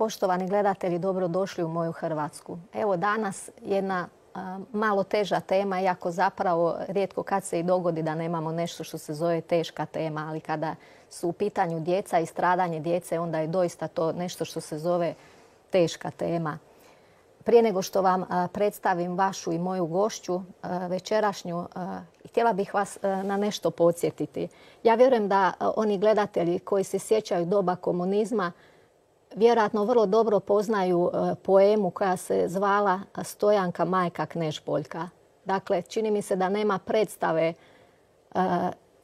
Poštovani gledatelji, dobrodošli u moju Hrvatsku. Evo danas jedna malo teža tema, iako zapravo rijetko kad se i dogodi da nemamo nešto što se zove teška tema, ali kada su u pitanju djeca i stradanje djece, onda je doista to nešto što se zove teška tema. Prije nego što vam predstavim vašu i moju gošću večerašnju, htjela bih vas na nešto podsjetiti. Ja vjerujem da oni gledatelji koji se sjećaju doba komunizma vjerojatno vrlo dobro poznaju poemu koja se zvala Stojanka majka Knežboljka. Dakle, čini mi se da nema predstave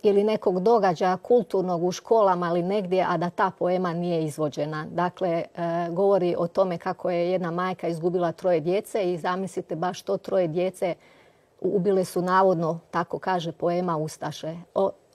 ili nekog događaja kulturnog u školama ili negdje, a da ta poema nije izvođena. Dakle, govori o tome kako je jedna majka izgubila 3 djece i zamislite baš to 3 djece ubile su navodno, tako kaže poema, ustaše.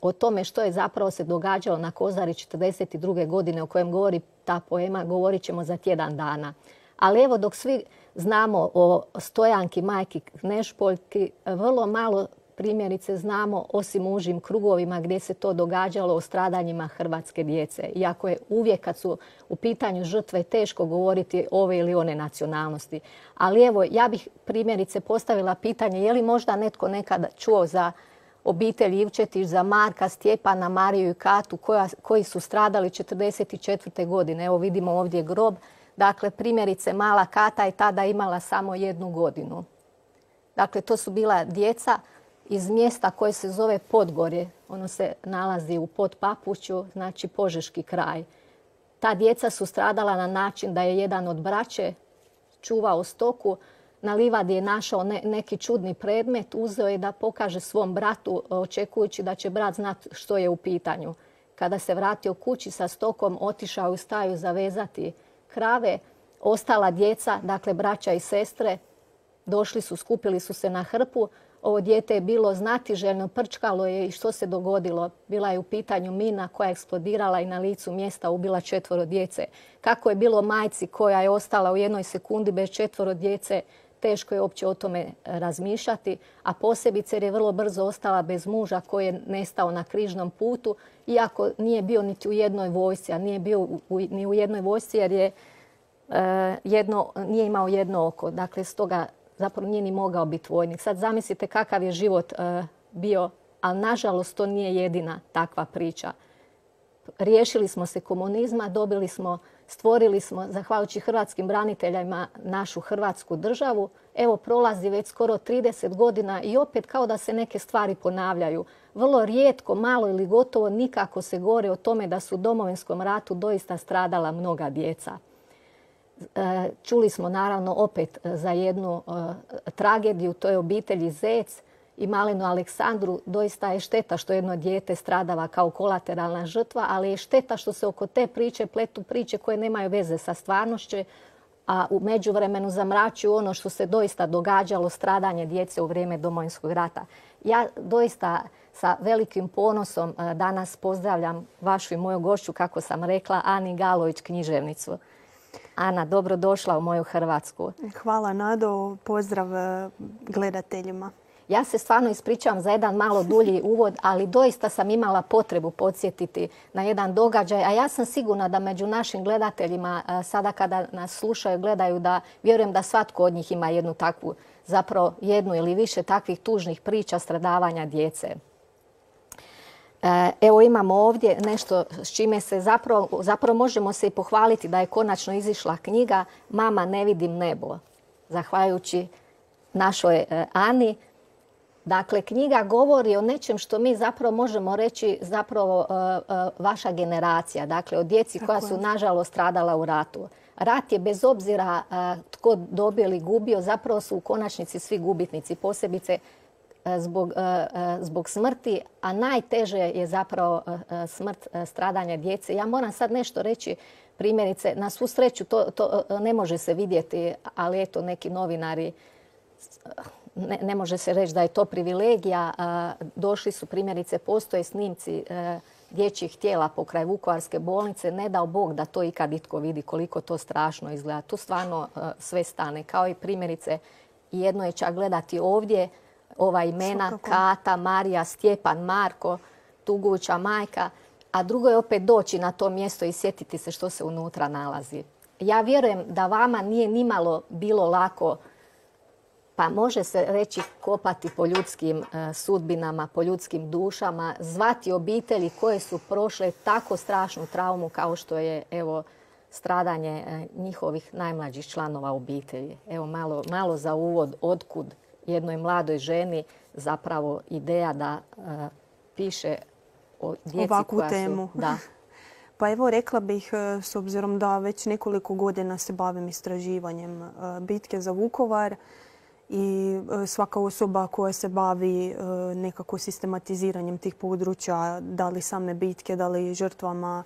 O tome što je zapravo se događalo na Kozari 1942. godine o kojem govori ta poema, govorit ćemo za tjedan dana. Ali evo, dok svi znamo o Stojanki majki Knežboljki, vrlo malo primjerice znamo, osim u užim krugovima gdje se to događalo, o stradanjima hrvatske djece. Iako je uvijek kad su u pitanju žrtve teško govoriti ove ili one nacionalnosti. Ali evo, ja bih primjerice postavila pitanje je li možda netko nekad čuo za obitelj Ivčetić, za Marka, Stjepana, Mariju i Katu koji su stradali 1944. godine. Evo vidimo ovdje grob. Dakle, primjerice mala Kata je tada imala samo 1 godinu. Dakle, to su bila djeca iz mjesta koje se zove Podgorje. Ono se nalazi u Podpapuću, znači Požeški kraj. Ta djeca su stradala na način da je jedan od braće čuvao stoku, na livadi je našao neki čudni predmet, uzeo je da pokaže svom bratu, očekujući da će brat znati što je u pitanju. Kada se vratio kući sa stokom, otišao u staju zavezati krave. Ostala djeca, dakle braća i sestre, došli su, skupili su se na hrpu. Ovo dijete je bilo znatiželjno, prčkalo je i što se dogodilo? Bila je u pitanju mina koja je eksplodirala i na licu mjesta ubila 4 djece. Kako je bilo majci koja je ostala u 1 sekundi bez 4 djece, teško je uopće o tome razmišljati, a posebice jer je vrlo brzo ostala bez muža koji je nestao na križnom putu, iako nije bio niti u jednoj vojsci, a nije bio ni u jednoj vojsci jer je nije imao 1 oko. Dakle, stoga zapravo nije ni mogao biti vojnik. Sad zamislite kakav je život bio, ali nažalost to nije jedina takva priča. Riješili smo se komunizma, stvorili smo, zahvaljujući hrvatskim braniteljima, našu Hrvatsku državu. Evo, prolazi već skoro 30 godina i opet kao da se neke stvari ponavljaju. Vrlo rijetko, malo ili gotovo nikako se govori o tome da su u Domovinskom ratu doista stradala mnoga djeca. Čuli smo naravno opet za jednu tragediju, to je obitelji Zec i malenu Aleksandru. Doista je šteta što jedno dijete stradava kao kolateralna žrtva, ali je šteta što se oko te priče pletu priče koje nemaju veze sa stvarnošću, a u međuvremenu zamračuju ono što se doista događalo, stradanje djece u vrijeme Domovinskog rata. Ja doista sa velikim ponosom danas pozdravljam vašu i moju gošću, kako sam rekla, Ani Galović, književnicu. Ana, dobrodošla u moju Hrvatsku. Hvala, Nado. Pozdrav gledateljima. Ja se stvarno ispričavam za jedan malo dulji uvod, ali doista sam imala potrebu podsjetiti na jedan događaj. A ja sam sigurna da među našim gledateljima, sada kada nas slušaju, gledaju, da vjerujem da svatko od njih ima jednu takvu, zapravo 1 ili više takvih tužnih priča stradavanja djece. Evo imamo ovdje nešto s čime se zapravo možemo se i pohvaliti da je konačno izišla knjiga Mama, ne vidim nebo, zahvaljujući našoj Ani. Dakle, knjiga govori o nečem što mi zapravo možemo reći zapravo vaša generacija, dakle o djeci koja su nažalost stradala u ratu. Rat je bez obzira tko dobio ili gubio, zapravo su u konačnici svi gubitnici, posebice zbog smrti, a najteže je zapravo smrt stradanja djece. Ja moram sad nešto reći, primjerice, na svu sreću to ne može se vidjeti, ali eto neki novinari, ne može se reći da je to privilegija. Došli su primjerice, postoje snimci dječjih tijela pokraj Vukovarske bolnice. Ne dao Bog da to ikad itko vidi koliko to strašno izgleda. Tu stvarno sve stane. Kao i primjerice, jedno je čak gledati ovdje ova imena Kata, Marija, Stjepan, Marko, tuguća majka, a drugo je opet doći na to mjesto i sjetiti se što se unutra nalazi. ja vjerujem da vama nije nimalo bilo lako, pa može se reći kopati po ljudskim sudbinama, po ljudskim dušama, zvati obitelji koje su prošle tako strašnu traumu kao što je stradanje njihovih najmlađih članova obitelji. Evo malo za uvod otkud jednoj mladoj ženi zapravo ideja da piše o djeci ovakvu koja temu. su... Da. Pa evo rekla bih, s obzirom da već nekoliko godina se bavim istraživanjem bitke za Vukovar i svaka osoba koja se bavi nekako sistematiziranjem tih područja, da li same bitke, da li žrtvama,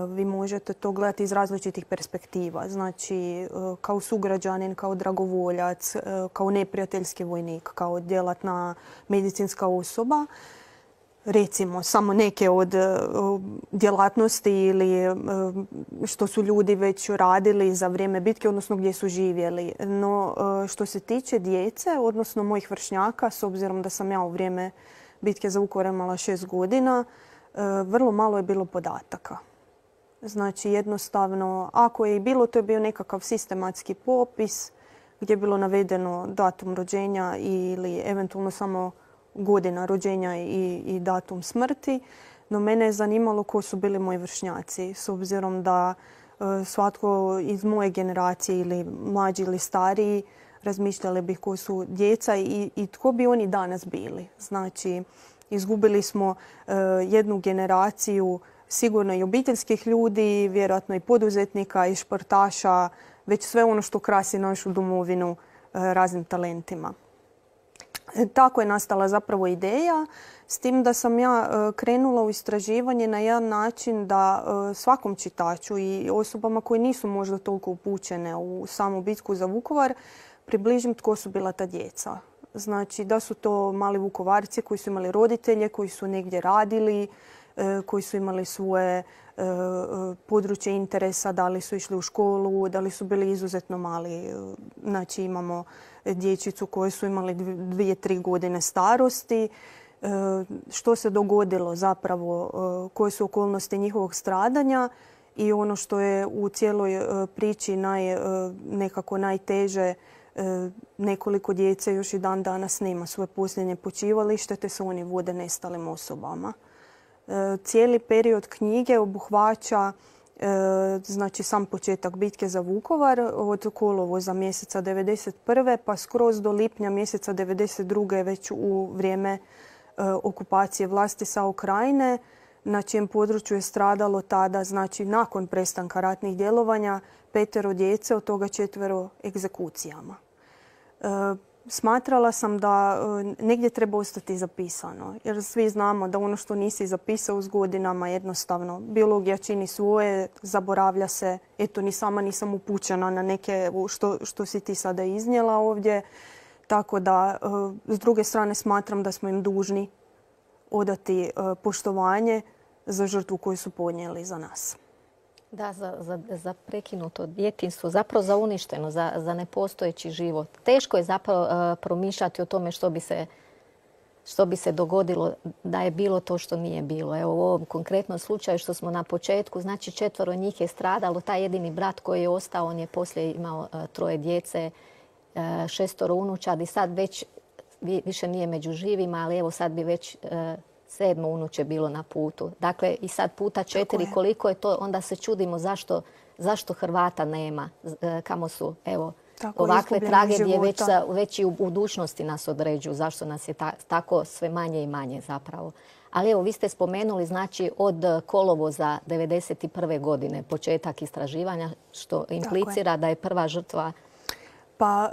vi možete to gledati iz različitih perspektiva. Znači, kao sugrađanin, kao dragovoljac, kao neprijateljski vojnik, kao djelatna medicinska osoba. Recimo, samo neke od djelatnosti ili što su ljudi već radili za vrijeme bitke, odnosno gdje su živjeli. No, što se tiče djece, odnosno mojih vršnjaka, s obzirom da sam ja u vrijeme bitke za Vukovar imala 6 godina, vrlo malo je bilo podataka. Znači, jednostavno, ako je i bilo, to je bio nekakav sistematski popis gdje je bilo navedeno datum rođenja ili eventualno samo godina rođenja i datum smrti. No mene je zanimalo ko su bili moji vršnjaci, s obzirom da svatko iz moje generacije ili mlađi ili stariji razmišljali bih ko su djeca i tko bi oni danas bili. Znači, izgubili smo jednu generaciju sigurno i obiteljskih ljudi, vjerojatno i poduzetnika i športaša, već sve ono što krasi našu domovinu raznim talentima. Tako je nastala zapravo ideja, s tim da sam ja krenula u istraživanje na jedan način da svakom čitaču i osobama koji nisu možda toliko upućene u samu bitku za Vukovar približim tko su bila ta djeca. Znači da su to mali Vukovarci koji su imali roditelje, koji su negdje radili, koji su imali svoje područje interesa, da li su išli u školu, da li su bili izuzetno mali. Znači imamo dječicu koje su imali 2-3 godine starosti. Što se dogodilo zapravo, koje su okolnosti njihovog stradanja i ono što je u cijeloj priči nekako najteže, nekoliko djece još i dan danas nema svoje posljednje počivalište te se oni vode nestalim osobama. Cijeli period knjige obuhvaća znači sam početak bitke za Vukovar od kolovoza mjeseca 1991. pa skroz do lipnja mjeseca 1992. već u vrijeme okupacije vlasti sa Krajine, na čijem području je stradalo tada, znači nakon prestanka ratnih djelovanja, 5 djece, od toga 4 egzekucijama. Smatrala sam da negdje treba ostati zapisano, jer svi znamo da ono što nisi zapisao s godinama jednostavno biologija čini svoje, zaboravlja se. Eto, ni sama nisam upućena na neke što si ti sada iznijela ovdje. Tako da, s druge strane, smatram da smo im dužni odati poštovanje za žrtvu koju su podnijeli za nas. Da, za prekinuto djetinjstvo, zapravo za uništeno, za nepostojeći život. Teško je zapravo promišljati o tome što bi se dogodilo da je bilo to što nije bilo. Evo u ovom konkretnom slučaju što smo na početku, znači 4 njih je stradalo. Taj jedini brat koji je ostao, on je poslije imao 3 djece, 6 unučadi. Sad već više nije među živima, ali evo sad bi već 7 unuče bilo na putu. Dakle, i sad puta 4, koliko je to, onda se čudimo zašto Hrvata nema, kamo su, evo, ovakve tragedije već i u budućnosti nas određuju, zašto nas je tako sve manje i manje zapravo. Ali evo, vi ste spomenuli, znači, od kolovoza 1991. godine početak istraživanja, što implicira da je prva žrtva... Pa,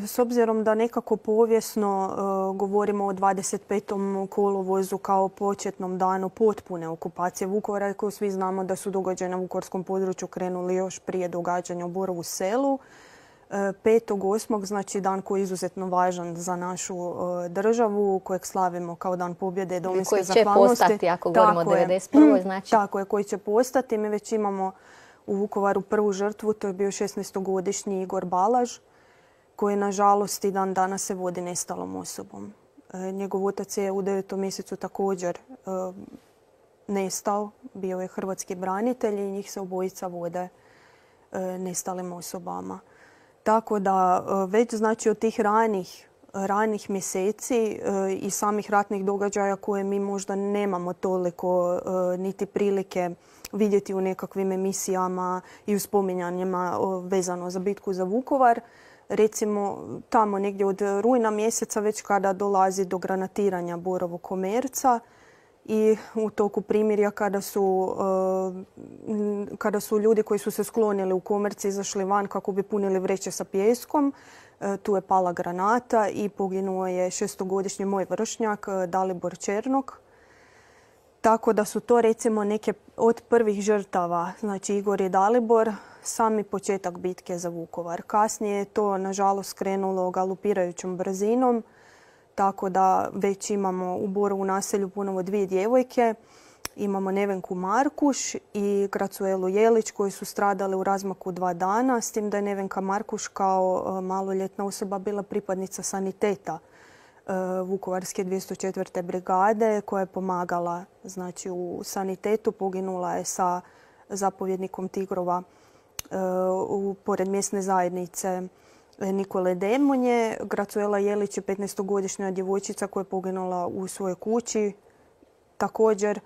s obzirom da nekako povijesno govorimo o 25. kolovozu kao početnom danu potpune okupacije Vukovara, koju svi znamo da su događaji na vukovarskom području krenuli još prije događanja u Borovu Selu. 5.8. znači dan koji je izuzetno važan za našu državu, kojeg slavimo kao dan pobjede domovinske zahvalnosti. Koji će postati, ako govorimo o 1991. znači... Tako je, koji će postati. Mi već imamo u Vukovaru prvu žrtvu, to je bio 16-godišnji Igor Balaž, koji nažalost i dan danas se vodi nestalom osobom. Njegov otac je u 9. mjesecu također nestao, bio je hrvatski branitelj i njih se obojica vode nestalim osobama. Tako da već znači od tih ranih mjeseci i samih ratnih događaja koje mi možda nemamo toliko niti prilike vidjeti u nekakvim emisijama i u spominjanjima vezano za bitku za Vukovar. Recimo tamo negdje od rujna mjeseca već kada dolazi do granatiranja Borovog komerca i u toku primirja kada su ljudi koji su se sklonili u komerci izašli van kako bi punili vreće sa pijeskom, tu je pala granata i poginuo je 6-godišnji moj vršnjak Dalibor Černok. Tako da su to recimo neke od prvih žrtava, znači Igor i Dalibor, sami početak bitke za Vukovar. Kasnije je to nažalost krenulo galopirajućom brzinom, tako da već imamo u Borovu naselju ponovo 2 djevojke. Imamo Nevenku Markuš i Gracuelu Jelić koji su stradali u razmaku 2 dana, s tim da je Nevenka Markuš kao maloljetna osoba bila pripadnica saniteta Vukovarske 204. brigade koja je pomagala znači, u sanitetu. Poginula je sa zapovjednikom Tigrova pored mjesne zajednice Nikole Demonje. Gracuela Jelić je 15-godišnja djevojčica koja je poginula u svojoj kući. Također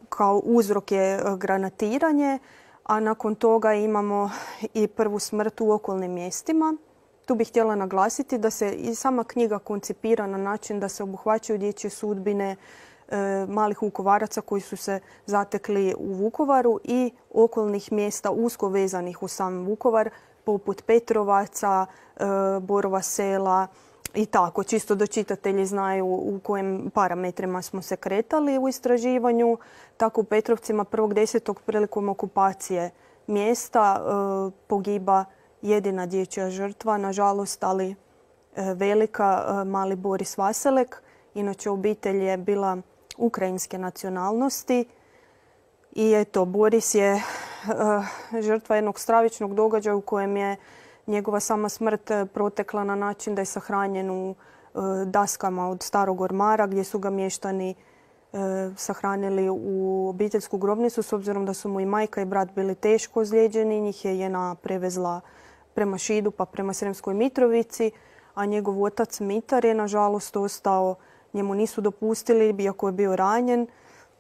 kao uzrok je granatiranje, a nakon toga imamo i prvu smrt u okolnim mjestima. Tu bih htjela naglasiti da se i sama knjiga koncipira na način da se obuhvaćaju dječje sudbine malih Vukovaraca koji su se zatekli u Vukovaru i okolnih mjesta usko vezanih u sam Vukovar, poput Petrovaca, Borova Sela i tako. Čisto da čitatelji znaju u kojim parametrima smo se kretali u istraživanju. Tako u Petrovcima 1.10. prilikom okupacije mjesta pogiba jedina dječja žrtva, nažalost, ali velika, mali Boris Vaselek. Inače, obitelj je bila ukrajinske nacionalnosti. I eto, Boris je žrtva jednog stravičnog događaja u kojem je njegova sama smrt protekla na način da je sahranjen u daskama od starog ormara gdje su ga mještani sahranili u obiteljsku grobnicu s obzirom da su mu i majka i brat bili teško ozlijeđeni. Njih je JNA prevezla prema Šidu pa prema Sremskoj Mitrovici, a njegov otac Mitar je nažalost ostao, njemu nisu dopustili, iako je bio ranjen,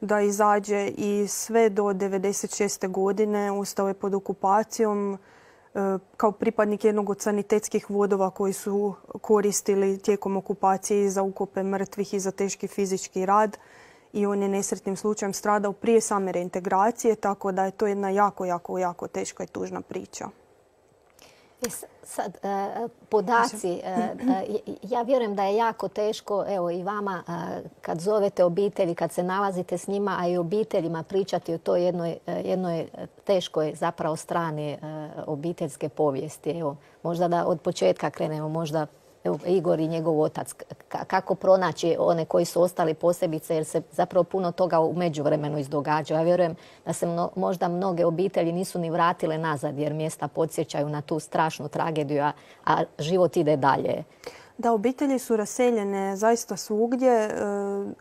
da izađe i sve do 1996. godine ostao je pod okupacijom kao pripadnik jednog od sanitetskih vodova koji su koristili tijekom okupacije za ukope mrtvih i za teški fizički rad. I on je nesretnim slučajem stradao prije same reintegracije, tako da je to jedna jako teška i tužna priča. Sad, podaci. Ja vjerujem da je jako teško, evo i vama, kad zovete obitelji, kad se nalazite s njima, a i obiteljima pričati o toj jednoj teškoj zapravo strani obiteljske povijesti. Evo, možda da od početka krenemo, možda Igor i njegov otac. Kako pronaći one koji su ostali posebice, jer se zapravo puno toga u međuvremenu izdogađa. Ja vjerujem da se možda mnoge obitelji nisu ni vratile nazad jer mjesta podsjećaju na tu strašnu tragediju, a život ide dalje. Da, obitelji su raseljene zaista svugdje.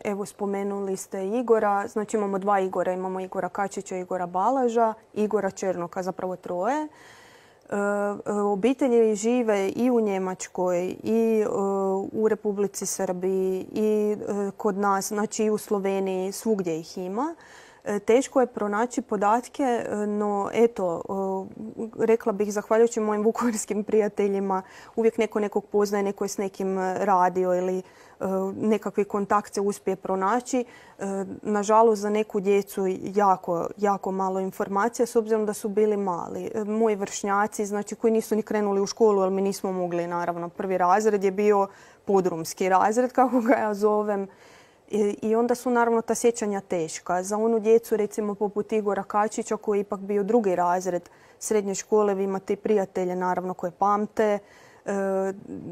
Evo, spomenuli ste Igora. Znači imamo 2 Igora. Imamo Igora Kačića i Igora Balaža. Igora Černoka, zapravo 3. Obitelji žive i u Njemačkoj i u Republici Srbiji i kod nas, znači i u Sloveniji, svugdje ih ima. Teško je pronaći podatke, no eto, rekla bih zahvaljujući mojim vukovarskim prijateljima, uvijek neko nekog poznaje, neko je s nekim radio ili nekakvi kontakt se uspije pronaći. Nažalost, za neku djecu jako malo informacija s obzirom da su bili mali. Moji vršnjaci, znači koji nisu ni krenuli u školu, ali mi nismo mogli, naravno. 1. razred je bio podrumski razred, kako ga ja zovem. I onda su naravno ta sjećanja teška. Za onu djecu, recimo poput Igora Kačića, koji je ipak bio 2. razred srednje škole, vi imate i prijatelje naravno koje pamte.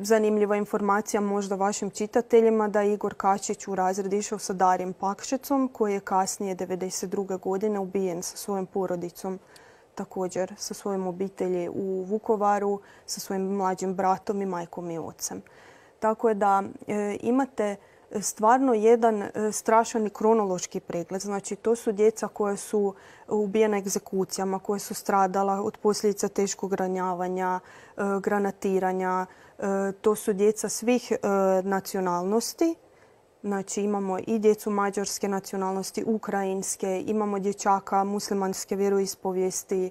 Zanimljiva informacija možda vašim čitateljima da je Igor Kačić u razred išao sa Darijem Pakšecom, koji je kasnije 1992. godine ubijen sa svojom porodicom, također sa svojom obitelji u Vukovaru, sa svojim mlađim bratom i majkom i ocem. Tako je da imate stvarno jedan strašan i kronološki pregled. Znači, to su djeca koja su ubijena egzekucijama, koja su stradala od posljedica teškog ranjavanja, granatiranja. To su djeca svih nacionalnosti. Znači, imamo i djecu mađarske nacionalnosti, ukrajinske, imamo dječaka muslimanske vjeroispovijesti.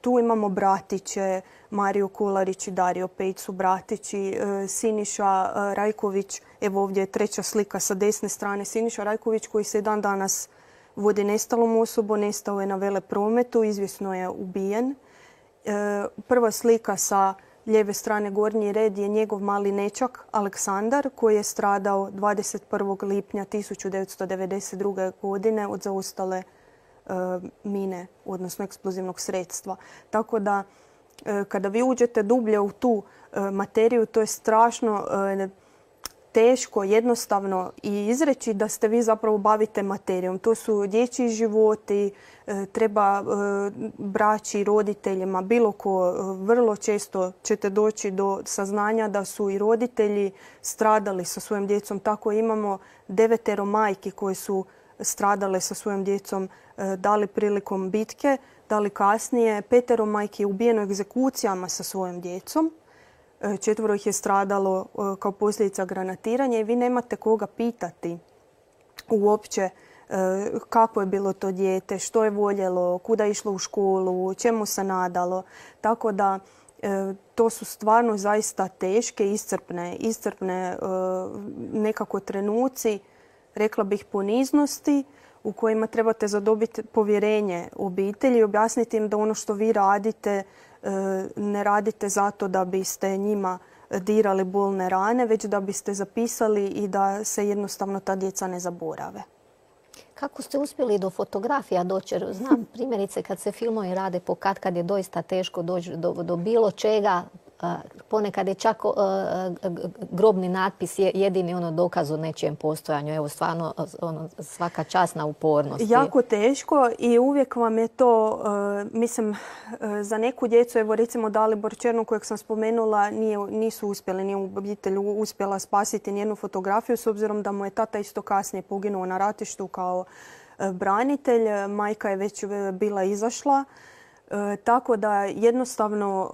Tu imamo bratiće, Mario Kolarić i Dario Pejić su bratići, Siniša Rajković, evo ovdje je treća slika sa desne strane, Siniša Rajković koji se dan danas vodi nestalom osobom, nestao je na veleprometu, izvjesno je ubijen. Prva slika sa lijeve strane gornji red je njegov mali nečak Aleksandar koji je stradao 21. lipnja 1992. godine od zaostale mine, odnosno eksplozivnog sredstva. Tako da kada vi uđete dublje u tu materiju, to je strašno teško, jednostavno i izreći da ste vi zapravo bavite materijom. To su dječji životi, treba braći, roditeljima, bilo ko. Vrlo često ćete doći do saznanja da su i roditelji stradali sa svojom djecom. Tako imamo 9 majki koje su stradale sa svojom djecom, da li prilikom bitke, da li kasnije. 5 majki je ubijeno egzekucijama sa svojom djecom. 4 ih je stradalo kao posljedica granatiranja i vi nemate koga pitati uopće kako je bilo to dijete, što je voljelo, kuda je išlo u školu, čemu se nadalo. Tako da to su stvarno zaista teške, iscrpne nekako trenuci, rekla bih poniznosti u kojima trebate zadobiti povjerenje obitelji i objasniti im da ono što vi radite ne radite zato da biste njima dirali bolne rane, već da biste zapisali i da se jednostavno ta djeca ne zaborave. Kako ste uspjeli do fotografija doći? Znam primjerice kad se filmovi rade kad je doista teško doći do bilo čega. Ponekad je čak grobni natpis jedini dokaz o nečijem postojanju. Evo stvarno svaka čast na upornosti. Jako teško i uvijek vam je to, mislim, za neku djecu, evo recimo Dalibor Černo kojeg sam spomenula, nisu uspjeli, nije obitelj uspjela spasiti nijednu fotografiju s obzirom da mu je tata isto kasnije poginuo na ratištu kao branitelj. Majka je već bila izašla. Tako da jednostavno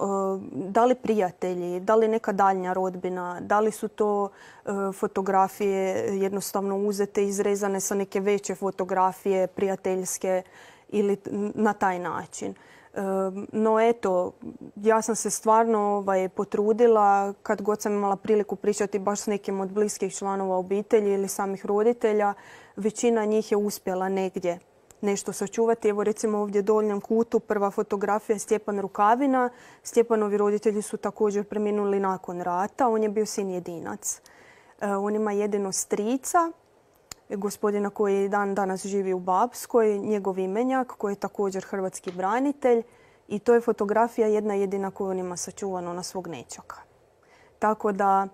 da li prijatelji, da li neka daljnja rodbina, da li su to fotografije jednostavno uzete, izrezane sa neke veće fotografije prijateljske ili na taj način. No eto, ja sam se stvarno potrudila kad god sam imala priliku pričati baš s nekim od bliskih članova obitelji ili samih roditelja, većina njih je uspjela negdje nešto sačuvati. Evo recimo ovdje u donjem kutu prva fotografija je Stjepan Rukavina. Stjepanovi roditelji su također preminuli nakon rata. On je bio sin jedinac. On ima jedino strica, gospodina koji dan danas živi u Bapskoj, njegov imenjak koji je također hrvatski branitelj. I to je fotografija jedna jedina koju on ima sačuvano na svog nečaka. Tako da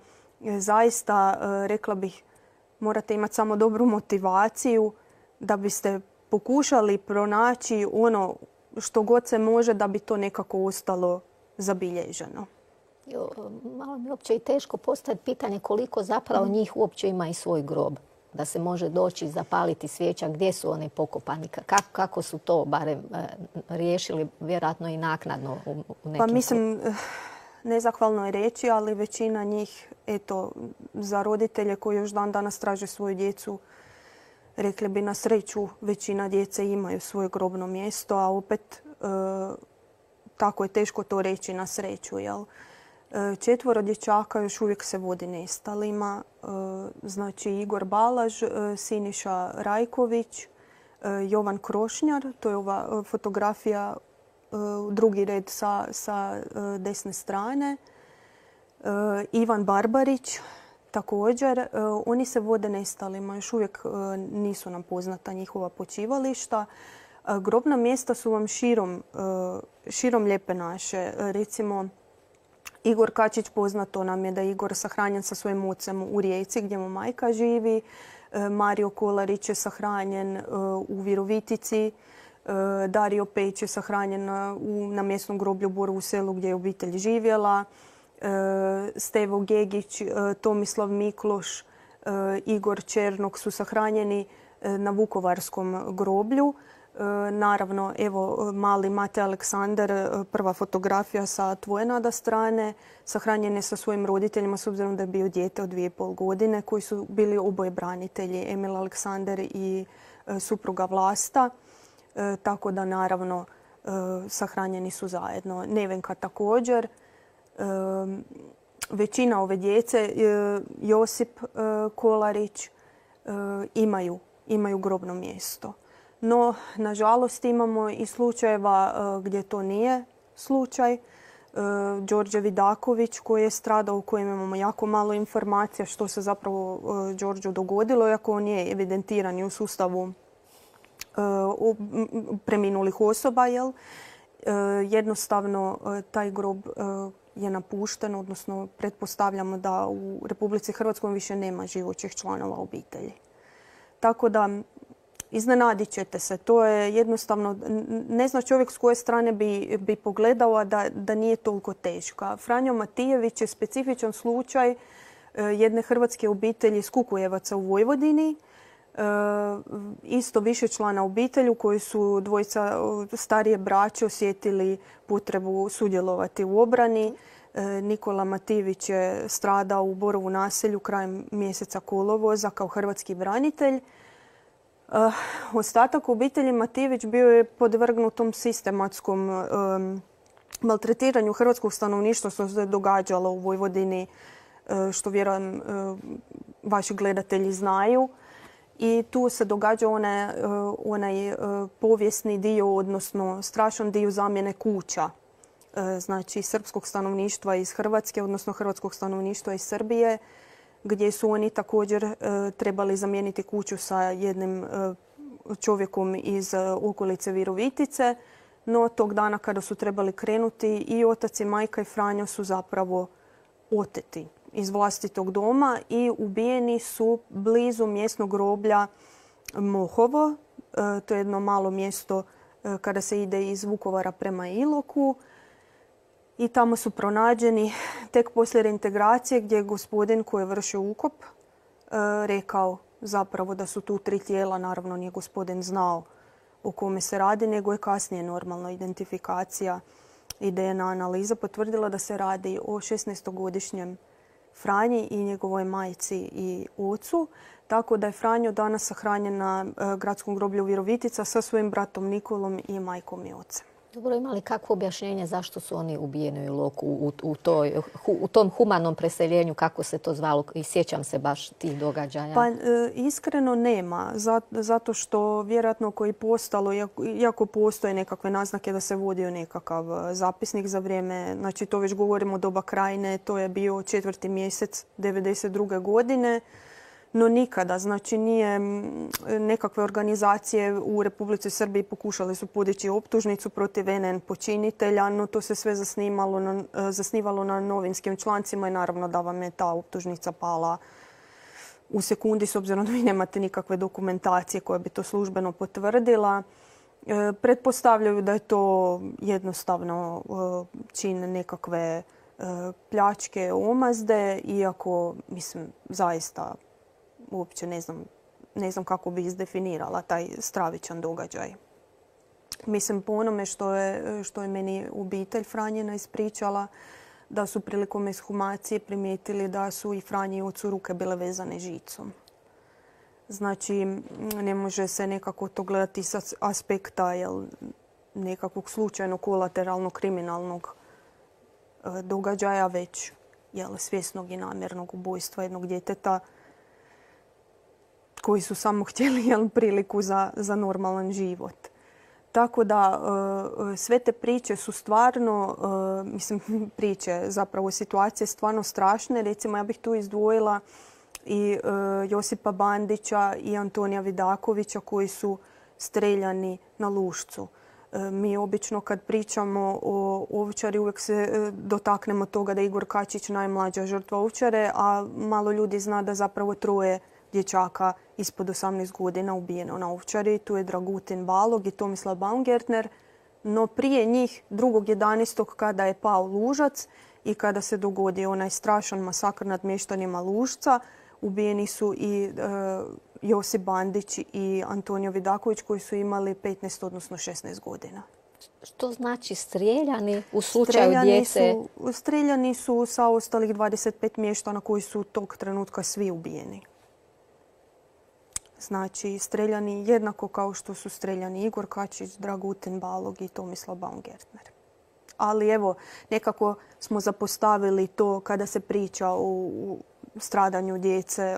zaista rekla bih morate imati samo dobru motivaciju da biste pokušali pronaći ono što god se može da bi to nekako ostalo zabilježeno. Malo mi uopće i teško postaviti pitanje koliko zapravo njih uopće ima i svoj grob. Da se može doći i zapaliti svijeća, gdje su one pokopani, kako su to barem riješili, vjerojatno i naknadno u nekim... Pa mislim, nezahvalno je reći, ali većina njih, eto, za roditelje koji još dan danas traže svoju djecu, rekli bi na sreću, većina djece imaju svoje grobno mjesto, a opet tako je teško to reći na sreću. Jel? 4 dječaka još uvijek se vodi nestalima. Znači Igor Balaž, Siniša Rajković, Jovan Krošnjar, to je ova fotografija drugi red sa desne strane, Ivan Barbarić, također, oni se vode nestalima, još uvijek nisu nam poznata njihova počivališta. Grobna mjesta su vam širom Lijepe naše. Recimo, Igor Kačić, poznato nam je da je Igor sahranjen sa svojim ocem u Rijeci gdje mu majka živi. Mario Kolarić je sahranjen u Virovitici. Dario Pejić je sahranjen na mjesnom groblju u Borovu Selu gdje je obitelj živjela. Stevo Gegić, Tomislav Mikloš, Igor Černok su sahranjeni na Vukovarskom groblju. Naravno, evo, mali Mate Aleksandar, prva fotografija sa tvoje nada strane, sahranjen je sa svojim roditeljima s obzirom da je bio dijete od 2,5 godine koji su bili oboje branitelji, Emil Aleksandar i supruga Vlasta. Tako da, naravno, sahranjeni su zajedno. Nevenka također. Većina ove djece, Josip Kolarić, imaju grobno mjesto. No, nažalost, imamo i slučajeva gdje to nije slučaj. Đorđe Vidaković koji je stradao, u kojem imamo jako malo informacija što se zapravo Đorđu dogodilo, iako on je evidentiran i u sustavu preminulih osoba. Jednostavno, taj grob je napušten, odnosno pretpostavljamo da u Republici Hrvatskoj više nema živućih članova obitelji. Tako da, iznenadit ćete se. To je jednostavno, ne zna čovjek s koje strane bi pogledao, a da nije toliko teška. Franjo Matijević je specifičan slučaj jedne hrvatske obitelji iz Kukujevaca u Vojvodini. Isto višečlana obitelj u kojoj su dvojica starije braće osjetili potrebu sudjelovati u obrani. Nikola Matijević je stradao u Borovu naselju krajem mjeseca kolovoza kao hrvatski branitelj. Ostatak obitelji Matijević bio je podvrgnutom sistematskom maltretiranju hrvatskog stanovništva što se događalo u Vojvodini, što vjerujem vaši gledatelji znaju. I tu se događa onaj povijesni dio, odnosno strašan dio zamjene kuća. Znači, srpskog stanovništva iz Hrvatske, odnosno hrvatskog stanovništva iz Srbije, gdje su oni također trebali zamijeniti kuću sa jednim čovjekom iz okolice Virovitice. No, tog dana kada su trebali krenuti, i otac i majka i Franjo su zapravo oteti iz vlastitog doma i ubijeni su blizu mjesnog groblja Mohovo. To je jedno malo mjesto kada se ide iz Vukovara prema Iloku. I tamo su pronađeni tek poslije reintegracije, gdje je gospodin koji je vršio ukop rekao zapravo da su tu 3 tijela. Naravno, nije gospodin znao o kome se radi, nego je kasnije normalna identifikacija i DNA analiza potvrdila da se radi o 16-godišnjem Franji i njegovoj majci i ocu. Tako da je Franjo danas sahranjen na gradskom groblju Virovitica sa svojim bratom Nikolom i majkom i ocem. Dobro, ima li kakvo objašnjenje zašto su oni ubijeni u Iloku u tom humanom preseljenju, kako se to zvalo, i sjećam se baš tih događaja? Pa iskreno nema, zato što vjerojatno koji postalo, iako postoje nekakve naznake da se vodio nekakav zapisnik za vrijeme, znači to već govorimo o doba Krajine, to je bio 4. mjesec 1992. godine. No nikada, znači nije, nekakve organizacije u Republici Srbiji pokušale su podići optužnicu protiv NN počinitelja, no to se sve zasnivalo na novinskim člancima i naravno da vam je ta optužnica pala u sekundi s obzirom da vi nemate nikakve dokumentacije koja bi to službeno potvrdila. Pretpostavljaju da je to jednostavno čin nekakve pljačke, omazde, iako, mislim, zaista uopće ne znam kako bi izdefinirala taj stravičan događaj. Mislim, po onome što je meni obitelj Franjina ispričala, da su prilikom ekshumacije primijetili da su i Franji i ocu ruke bile vezane žicom. Znači, ne može se nekako to gledati sa aspekta nekakvog slučajnog kolateralnog kriminalnog događaja, već svjesnog i namjernog ubojstva jednog djeteta koji su samo htjeli priliku za normalan život. Tako da sve te priče su stvarno, priče, zapravo situacije stvarno strašne. Recimo, ja bih tu izdvojila i Josipa Bandića i Antonija Vidakovića koji su streljani na Lušcu. Mi obično kad pričamo o Ovčari uvijek se dotaknemo toga da je Igor Kačić najmlađa žrtva Ovčare, a malo ljudi zna da zapravo 3 dječaka ispod 18 godina ubijeno na Ovčari. Tu je Dragutin Balog i Tomislav Baumgartner. No prije njih 2.11. kada je pao Lužac i kada se dogodio onaj strašan masakr nad mještanima Lužca, ubijeni su i Josip Bandić i Antonio Vidaković koji su imali 15, odnosno 16 godina. Što znači strijeljani u slučaju djece? Strijeljani su sa ostalih 25 mještana koji su tog trenutka svi ubijeni. Znači, streljani jednako kao što su streljani Igor Kačić, Dragutin Balog i Tomislav Baumgartner. Ali evo, nekako smo zapostavili to kada se priča o stradanju djece.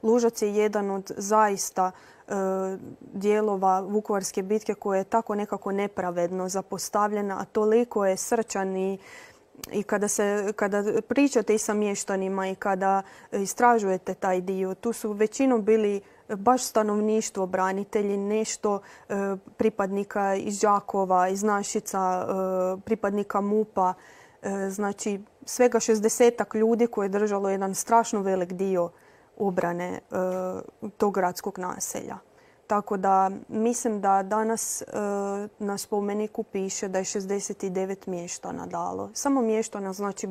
Lužac je jedan od zaista dijelova Vukovarske bitke koja je tako nekako nepravedno zapostavljena, a toliko je srčan i kada pričate i sa mještanima i kada istražujete taj dio, tu su većinom bili baš stanovništvo, branitelji, nešto pripadnika iz Đakova, iz Našica, pripadnika MUP-a. Znači, svega 60-ak ljudi koje je držalo jedan strašno velik dio obrane tog gradskog naselja. Tako da mislim da danas na spomeniku piše da je 69 mještana dalo. Samo mještana, znači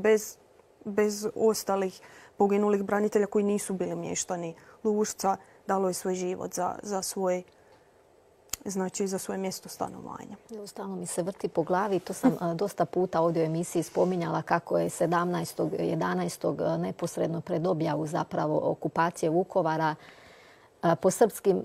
bez ostalih poginulih branitelja koji nisu bili mještani Lužca, dalo je svoj život za svoje mjesto stanovanja. Stalno mi se vrti po glavi. To sam dosta puta ovdje u emisiji spominjala kako je 17.11. neposredno pred objavu zapravo okupacije Vukovara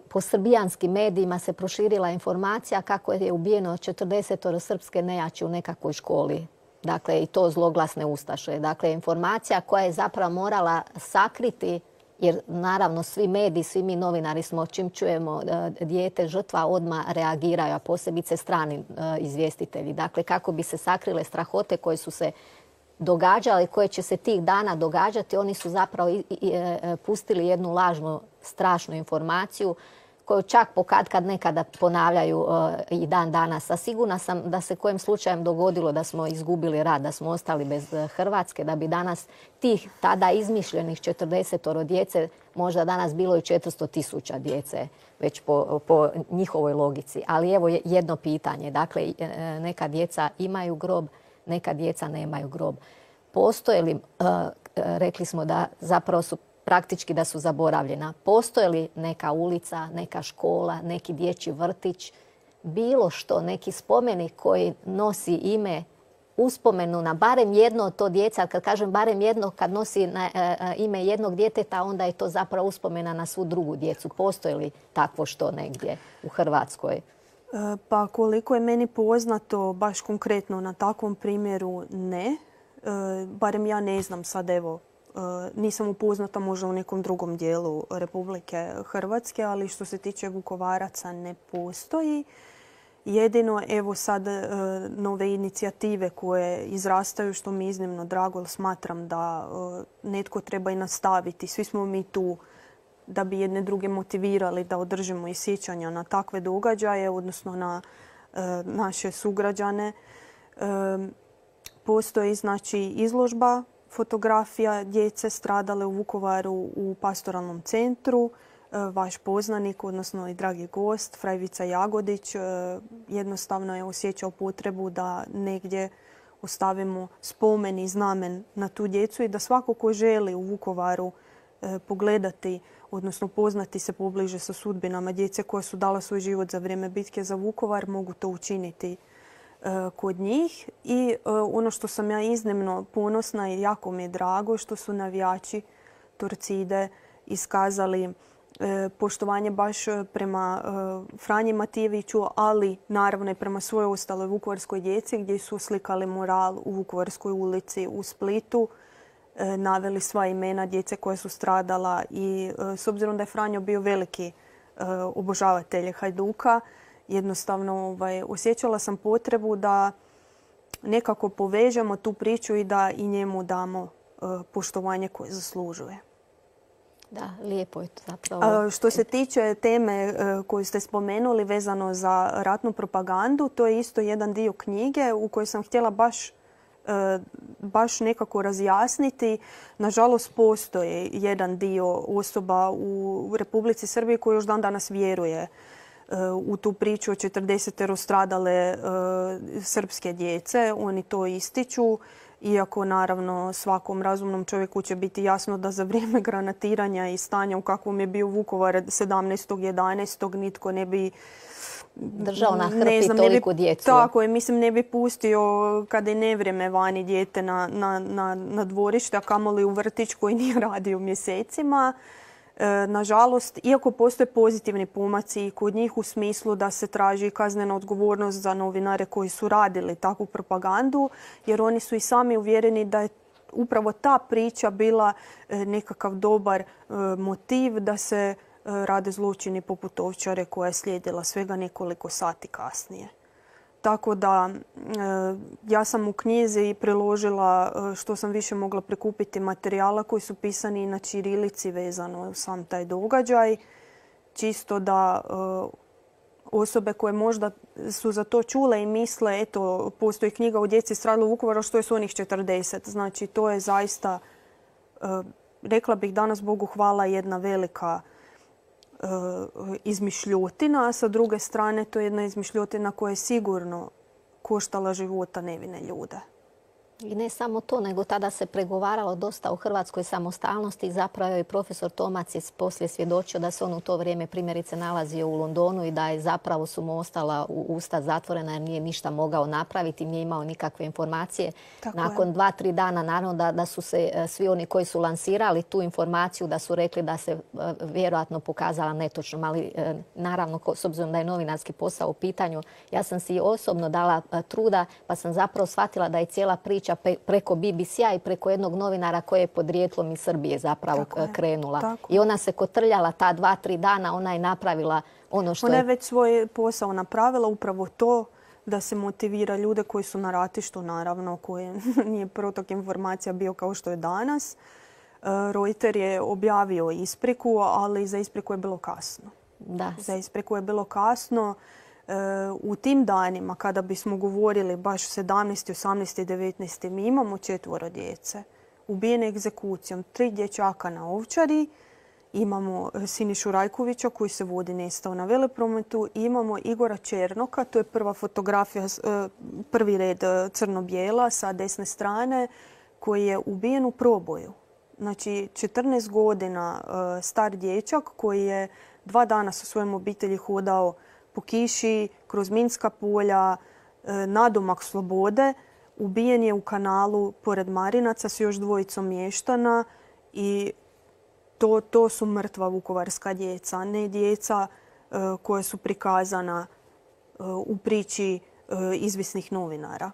po srbijanskim medijima se proširila informacija kako je ubijeno 40 srpske nejači u nekakvoj školi. Dakle, i to zloglasne ustaše. Dakle, informacija koja je zapravo morala sakriti, jer naravno svi mediji, svi mi novinari smo, čim čujemo dijete žrtva, odmah reagiraju, a posebice strani izvjestitelji. Dakle, kako bi se sakrile strahote koje su se događale i koje će se tih dana događati, oni su zapravo pustili jednu lažnu, strašnu informaciju koju čak kad nekada ponavljaju i dan danas. A sigurna sam da se kojim slučajem dogodilo da smo izgubili rat, da smo ostali bez Hrvatske, da bi danas tih tada izmišljenih 40 djece možda danas bilo i 400.000 djece, već po njihovoj logici. Ali evo jedno pitanje. Dakle, neka djeca imaju grob, neka djeca nemaju grob. Postoje li, rekli smo da zapravo su praktički da su zaboravljena. Postoje li neka ulica, neka škola, neki dječji vrtić, bilo što, neki spomenik koji nosi ime, uspomenu na barem jedno od to djeca. Kad kažem barem jedno, kad nosi ime jednog djeteta, onda je to zapravo uspomena na svu drugu djecu. Postoje li takvo što negdje u Hrvatskoj? Pa koliko je meni poznato, baš konkretno na takvom primjeru ne. Barem ja ne znam sad, evo, nisam upoznata možda u nekom drugom dijelu Republike Hrvatske, ali što se tiče Vukovaraca ne postoji. Jedino evo sad nove inicijative koje izrastaju, što mi je iznimno drago, jer smatram da netko treba i nastaviti. Svi smo mi tu da bi jedne druge motivirali da održimo i sjećanja na takve događaje, odnosno na naše sugrađane. Postoji znači izložba fotografija djece stradale u Vukovaru u pastoralnom centru. Vaš poznanik, odnosno i dragi gost, Frajvica Jagodić, jednostavno je osjećao potrebu da negdje ostavimo spomen i znamen na tu djecu i da svako ko želi u Vukovaru pogledati, odnosno poznati se pobliže sa sudbinama djece koja su dala svoj život za vrijeme bitke za Vukovar, mogu to učiniti kod njih. I ono što sam ja iznimno ponosna i jako mi je drago što su navijači Torcide iskazali poštovanje baš prema Franji Matijeviću, ali naravno i prema svojoj ostaloj vukovarskoj djeci gdje su slikali mural u Vukovarskoj ulici u Splitu, naveli sva imena djece koja su stradala i s obzirom da je Franjo bio veliki obožavatelj Hajduka, jednostavno osjećala sam potrebu da nekako povežemo tu priču i da i njemu damo poštovanje koje zaslužuje. Da, lijepo je to zapravo. Što se tiče teme koju ste spomenuli vezano za ratnu propagandu, to je isto jedan dio knjige u kojoj sam htjela baš nekako razjasniti. Nažalost, postoji jedan dio osoba u Republici Srbiji koji još dan danas vjeruje u tu priču o 40 stradale srpske djece. Oni to ističu. Iako, naravno, svakom razumnom čovjeku će biti jasno da za vrijeme granatiranja i stanja u kakvom je bio Vukovar 17.11. nitko ne bi držao na hrpi toliku djecu. Tako je, mislim, ne bi pustio kada je nevrijeme vani dijete na dvorište, a kamoli u vrtić koji nije radio mjesecima. Nažalost, iako postoje pozitivni pomaci kod njih u smislu da se traži kaznena odgovornost za novinare koji su radili takvu propagandu, jer oni su i sami uvjereni da je upravo ta priča bila nekakav dobar motiv da se rade zločini poput Ovčare koja je slijedila svega nekoliko sati kasnije. Tako da ja sam u knjizi priložila što sam više mogla prikupiti materijala koji su pisani na ćirilici vezano sam taj događaj. Čisto da osobe koje možda su za to čule i misle, eto, postoji knjiga o djeci stradalo u Vukovaru, što je s onih 40. Znači, to je zaista, rekla bih danas, Bogu hvala, jedna velika izmišljotina, a sa druge strane to je jedna izmišljotina koja je sigurno koštala života nevine ljude. I ne samo to, nego tada se pregovaralo dosta o hrvatskoj samostalnosti. Zapravo je profesor Tomac poslije svjedočio da se on u to vrijeme primjerice nalazio u Londonu i da je zapravo su mu ostala usta zatvorena jer nije ništa mogao napraviti, nije imao nikakve informacije. Nakon 2-3 dana naravno da su se svi oni koji su lansirali tu informaciju da su rekli da se vjerojatno pokazala netočnom, ali naravno s obzirom da je novinarski posao u pitanju, ja sam si osobno dala truda pa sam zapravo shvatila da je cijela priča preko BBC-a i preko jednog novinara koje je podrijetlom iz Srbije zapravo krenula. I ona se kotrljala ta 2-3 dana, ona je napravila ono što je... Ona je već svoj posao napravila, upravo to da se motivira ljude koji su na ratištu, naravno, koji nije protok informacija bio kao što je danas. Reuter je objavio ispriku, ali za ispriku je bilo kasno. Za ispriku je bilo kasno. U tim danima kada bismo govorili baš 17., 18. i 19. mi imamo 4 djece ubijene egzekucijom, 3 dječaka na Ovčari, imamo Sinišu Rajkovića koji se vodi nestao na Veleprometu, imamo Igora Černoka, to je prva fotografija, prvi red crno-bijela sa desne strane, koji je ubijen u proboju. Znači 14 godina star dječak koji je 2 dana sa svojom obitelji hodao po kiši, kroz minska polja, nadomak slobode. Ubijen je u kanalu pored Marinaca s još 2 mještana i to su mrtva vukovarska djeca, ne djeca koja su prikazana u priči izvisnih novinara.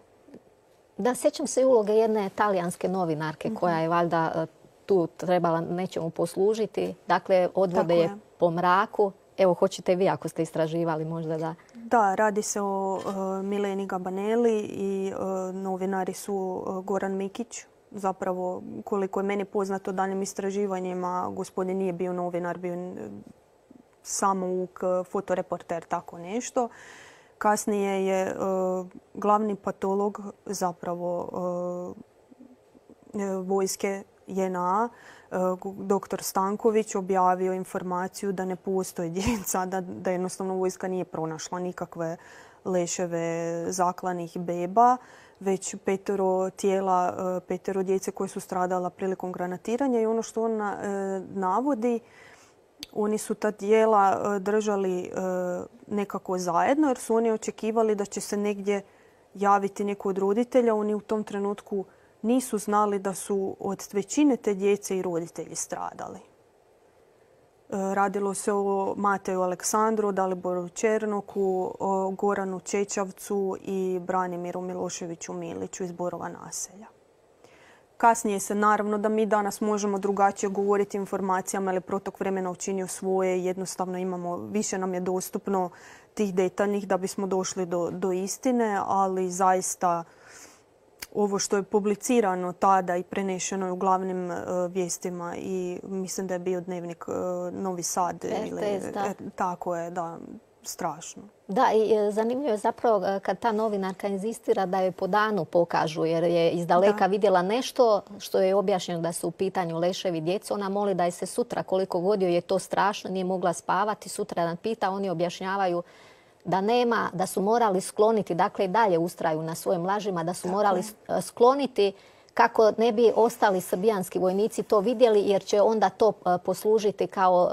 Da, sjećam se uloge jedne talijanske novinarke koja je valjda tu trebala nečemu poslužiti. Dakle, odvode je po mraku. Evo, hoćete vi ako ste istraživali možda da... Da, radi se o Mileni Gabaneli i novinari su Goran Mikić. Zapravo, koliko je meni poznato daljim istraživanjima, gospodin nije bio novinar, bio samouk, fotoreporter, tako nešto. Kasnije je glavni patolog zapravo vojske JNA, dr. Stanković, objavio informaciju da ne postoji djeca, da jednostavno vojska nije pronašla nikakve leševe zaklanih beba, već 5 tijela, 5 djece koje su stradala prilikom granatiranja. I ono što on navodi, oni su ta tijela držali nekako zajedno jer su oni očekivali da će se negdje javiti neko od roditelja. Oni u tom trenutku nisu znali da su od većine te djece i roditelji stradali. Radilo se o Mateju Aleksandru, Daliboru Černoku, o Goranu Čečavcu i Branimiru Miloševiću Miliću iz Borova naselja. Kasnije se naravno da mi danas možemo drugačije govoriti informacijama, ali protok vremena učinio svoje. Jednostavno imamo, više nam je dostupno tih detaljnih da bismo došli do istine, ali zaista ovo što je publicirano tada i prenešeno je u glavnim vijestima i mislim da je bio dnevnik Novi Sad. Tako je, da, strašno. Da, i zanimljivo je zapravo kad ta novinarka inzistira da joj po danu pokažu jer je iz daleka vidjela nešto što je objašnjeno da su u pitanju leševi djece. Ona moli da je se sutra, koliko god joj je to strašno, nije mogla spavati, sutra nam pita, oni objašnjavaju da su morali skloniti, dakle i dalje ustraju na svojim lažima, da su morali skloniti kako ne bi ostali srbijanski vojnici to vidjeli, jer će onda to poslužiti kao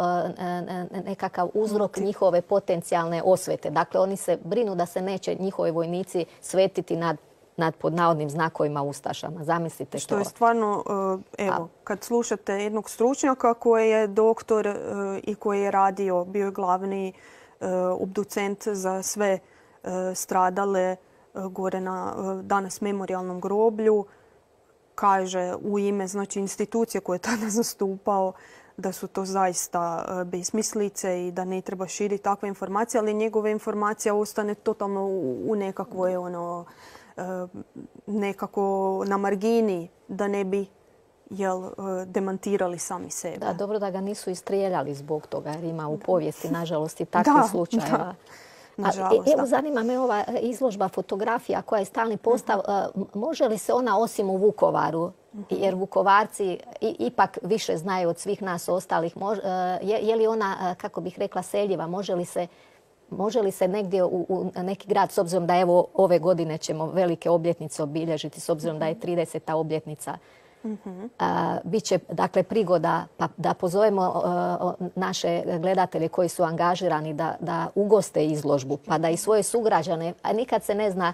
nekakav uzrok njihove potencijalne osvete. Dakle, oni se brinu da se neće njihovi vojnici svetiti nad pod navodnim znakovima ustašama. Zamislite to. Što je stvarno, evo, kad slušate jednog stručnjaka koji je doktor i koji je radio, bio je glavni obducent za sve stradale gore na danas memorijalnom groblju, kaže u ime znači, institucije koje je tada zastupao da su to zaista besmislice i da ne treba širiti takve informacije, ali njegove informacija ostane totalno u nekakvoj nekako na margini da ne bi demantirali sami sebe. Da, dobro da ga nisu istrijeljali zbog toga jer ima u povijesti nažalost i takvih slučajeva. Evo zanima me ova izložba fotografija koja je stalni postav. Može li se ona osim u Vukovaru, jer Vukovarci ipak više znaju od svih nas ostalih, je li ona, kako bih rekla, seljiva? Može li se negdje u neki grad, s obzirom da evo ove godine ćemo velike obljetnice obilježiti, s obzirom da je 30. obljetnica, biće dakle prigoda da pozovemo naše gledatelje koji su angažirani da ugoste izložbu, pa da i svoje sugrađane, a nikad se ne zna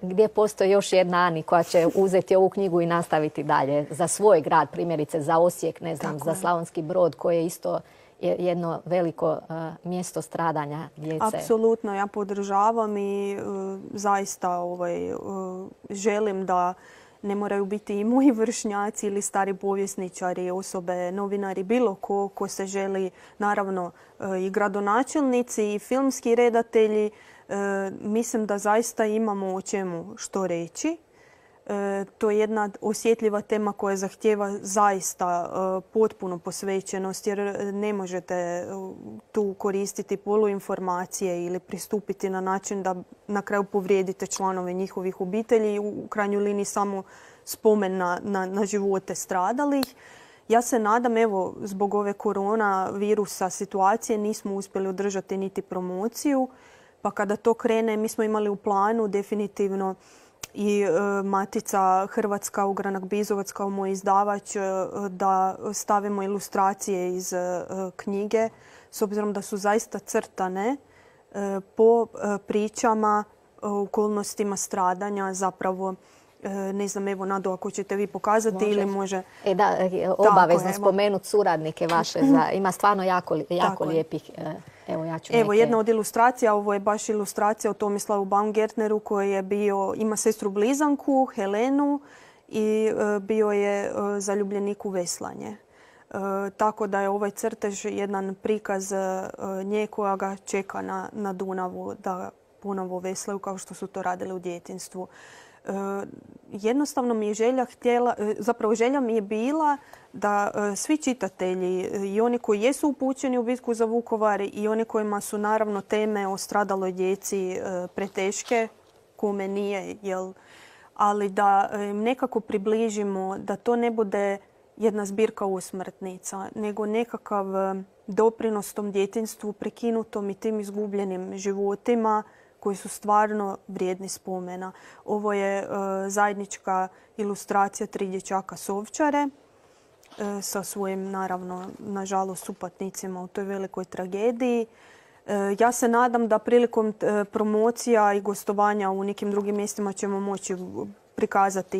gdje postoji još jedna Ani koja će uzeti ovu knjigu i nastaviti dalje za svoj grad, primjerice za Osijek, ne znam, za Slavonski Brod koji je isto jedno veliko mjesto stradanja djece. Apsolutno, ja podržavam i zaista želim da ne moraju biti i moji vršnjaci ili stari povjesničari, osobe, novinari, bilo ko se želi, naravno i gradonačelnici i filmski redatelji. Mislim da zaista imamo o čemu što reći. To je jedna osjetljiva tema koja zahtijeva zaista potpunu posvećenost jer ne možete tu koristiti poluinformacije ili pristupiti na način da na kraju povrijedite članove njihovih obitelji i u krajnjoj liniji samo spomen na živote stradalih. Ja se nadam, evo, zbog ove koronavirusa situacije nismo uspjeli održati niti promociju, pa kada to krene mi smo imali u planu definitivno i Matica Hrvatska, Ugranak Bizovac kao moj izdavač da stavimo ilustracije iz knjige s obzirom da su zaista crtane po pričama, okolnostima stradanja zapravo. Ne znam, evo Nado, ako ćete vi pokazati ili može... Da, obavezno spomenuti suradnike vaše. Ima stvarno jako lijepih... Evo jedna od ilustracija, ovo je baš ilustracija o Tomislavu Baumgartneru koji je bio, ima sestru blizanku, Helenu i bio je zaljubljenik u veslanje. Tako da je ovaj crtež jedan prikaz nje koja ga čeka na Dunavu da ponovo veslaju kao što su to radili u djetinjstvu. Jednostavno mi je želja mi je bila da svi čitatelji i oni koji jesu upućeni u bitku za Vukovar i oni kojima su naravno teme o stradaloj djeci preteške, kome nije, ali da nekako približimo da to ne bude jedna zbirka usmrtnica, nego nekakav doprinos tom djetinjstvu prekinutom i tim izgubljenim životima koji su stvarno vrijedni spomena. Ovo je zajednička ilustracija 3 dječaka Sovčare sa svojim, naravno, nažalost, supatnicima u toj velikoj tragediji. Ja se nadam da prilikom promocija i gostovanja u nekim drugim mjestima ćemo moći prikazati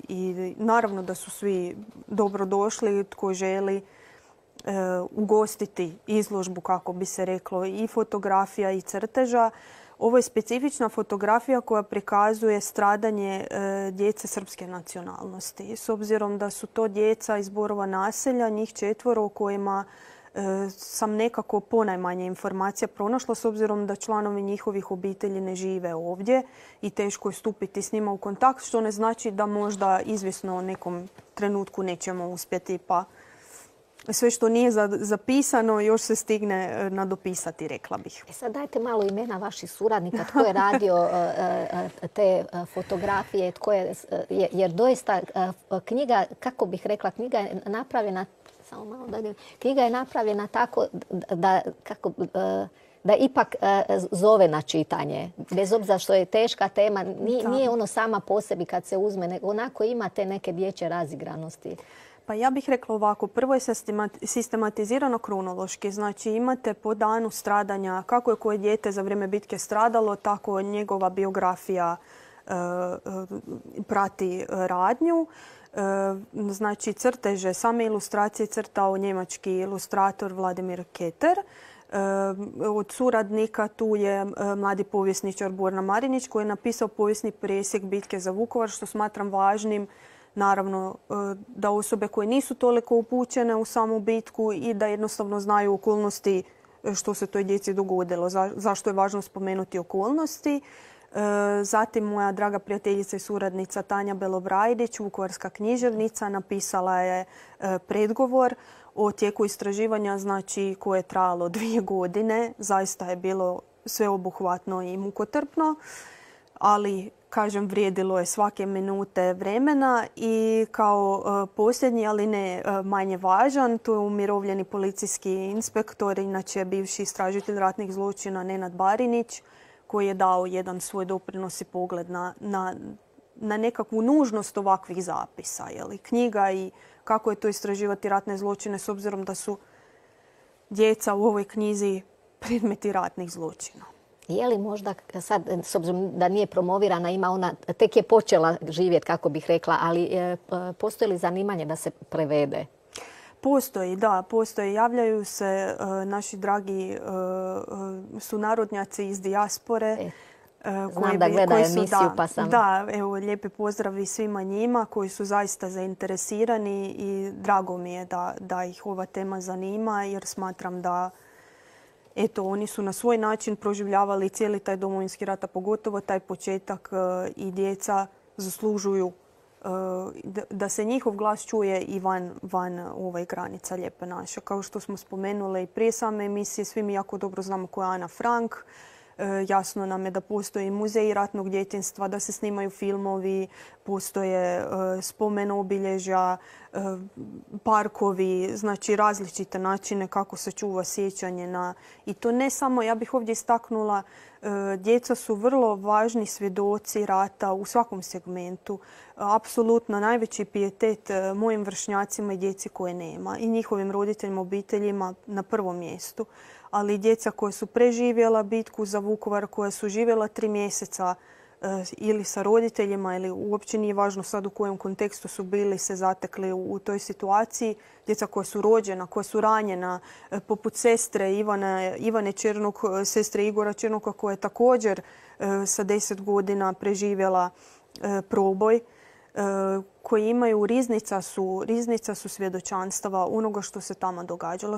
i naravno da su svi dobrodošli tko želi ugostiti izložbu, kako bi se reklo, i fotografija i crteža. Ovo je specifična fotografija koja prikazuje stradanje djece srpske nacionalnosti. S obzirom da su to djeca iz Borova naselja, njih 4 o kojima sam nekako ponajmanje informacija pronašla s obzirom da članovi njihovih obitelji ne žive ovdje i teško je stupiti s njima u kontakt, što ne znači da možda izvisno u nekom trenutku nećemo uspjeti, pa sve što nije zapisano još se stigne nadopisati, rekla bih. Sad dajte malo imena vaših suradnika, tko je radio te fotografije, jer doista knjiga, kako bih rekla, knjiga je napravljena, samo malo da knjiga je napravljena tako da ipak zove na čitanje. Bez obzira što je teška tema, nije ono sama po sebi kad se uzme, nego onako ima te neke dječje razigranosti. Pa ja bih rekla ovako, prvo je sistematizirano kronološki. Znači imate po danu stradanja kako je koje dijete za vrijeme bitke stradalo, tako njegova biografija prati radnju. Znači crteže, same ilustracije crtao njemački ilustrator Vladimir Keter. Od suradnika tu je mladi povjesničar Borna Marinić koji je napisao povijesni presjek bitke za Vukovar, što smatram važnim. Naravno da osobe koje nisu toliko upućene u samu bitku i da jednostavno znaju okolnosti što se toj djeci dogodilo. Zašto je važno spomenuti okolnosti. Zatim moja draga prijateljica i suradnica Tanja Belobrajdić, vukovarska književnica, napisala je predgovor o tijeku istraživanja, znači koje je trajalo 2 godine. Zaista je bilo sveobuhvatno i mukotrpno, ali kažem, vrijedilo je svake minute vremena. I kao posljednji, ali ne manje važan, tu je umirovljeni policijski inspektor, inače bivši istražitelj ratnih zločina Nenad Barinić, koji je dao jedan svoj doprinos i pogled na nekakvu nužnost ovakvih zapisa. Knjiga i kako je to istraživati ratne zločine s obzirom da su djeca u ovoj knjizi predmeti ratnih zločina. Je li možda sad, s obzirom da nije promovirana, ima ona, tek je počela živjeti, kako bih rekla, ali postoji li zanimanje da se prevede? Postoji, da, postoji. Javljaju se naši dragi sunarodnjaci iz dijaspore. Znam da gleda emisiju, pa sam... Da, evo, lijepi pozdravi svima njima koji su zaista zainteresirani i drago mi je da ih ova tema zanima, jer smatram da eto, oni su na svoj način proživljavali cijeli taj Domovinski rat, a pogotovo taj početak, i djeca zaslužuju da se njihov glas čuje i van granica Lijepe naše. Kao što smo spomenuli i prije same emisije, svi mi jako dobro znamo ko je Ana Frank. Jasno nam je da postoje muzeji ratnog djetinjstva, da se snimaju filmovi, postoje spomen obilježja, parkovi, znači različite načine kako se čuva sjećanje na... I to ne samo, ja bih ovdje istaknula, djeca su vrlo važni svjedoci rata u svakom segmentu. Apsolutno najveći pijetet mojim vršnjacima i djeci koje nema i njihovim roditeljima, obiteljima na prvom mjestu. Ali i djeca koja su preživjela bitku za Vukovar, koja su živjela 3 mjeseca ili sa roditeljima ili uopće nije važno sad u kojem kontekstu su bili se zatekli u toj situaciji. Djeca koja su rođena, koja su ranjena, poput sestre Ivane Černok, sestre Igora Černoka koja je također sa 10 godina preživjela proboj, koji imaju riznica su svjedočanstava onoga što se tamo događalo.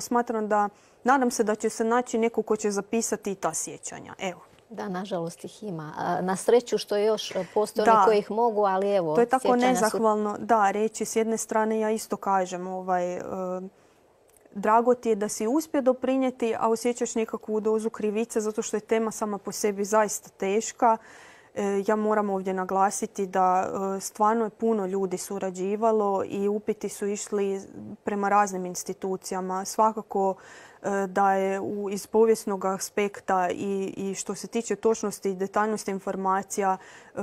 Nadam se da će se naći neko ko će zapisati i ta sjećanja. Evo. Da, nažalost ih ima. Na sreću što još postoje oni koji ih mogu, ali evo... To je tako nezahvalno. Da, reći s jedne strane ja isto kažem, drago ti je da si uspio doprinijeti, a osjećaš nekakvu dozu krivice zato što je tema sama po sebi zaista teška. Ja moram ovdje naglasiti da stvarno je puno ljudi surađivalo i upiti su išli prema raznim institucijama. Svakako da je iz povijesnog aspekta i što se tiče točnosti i detaljnosti informacija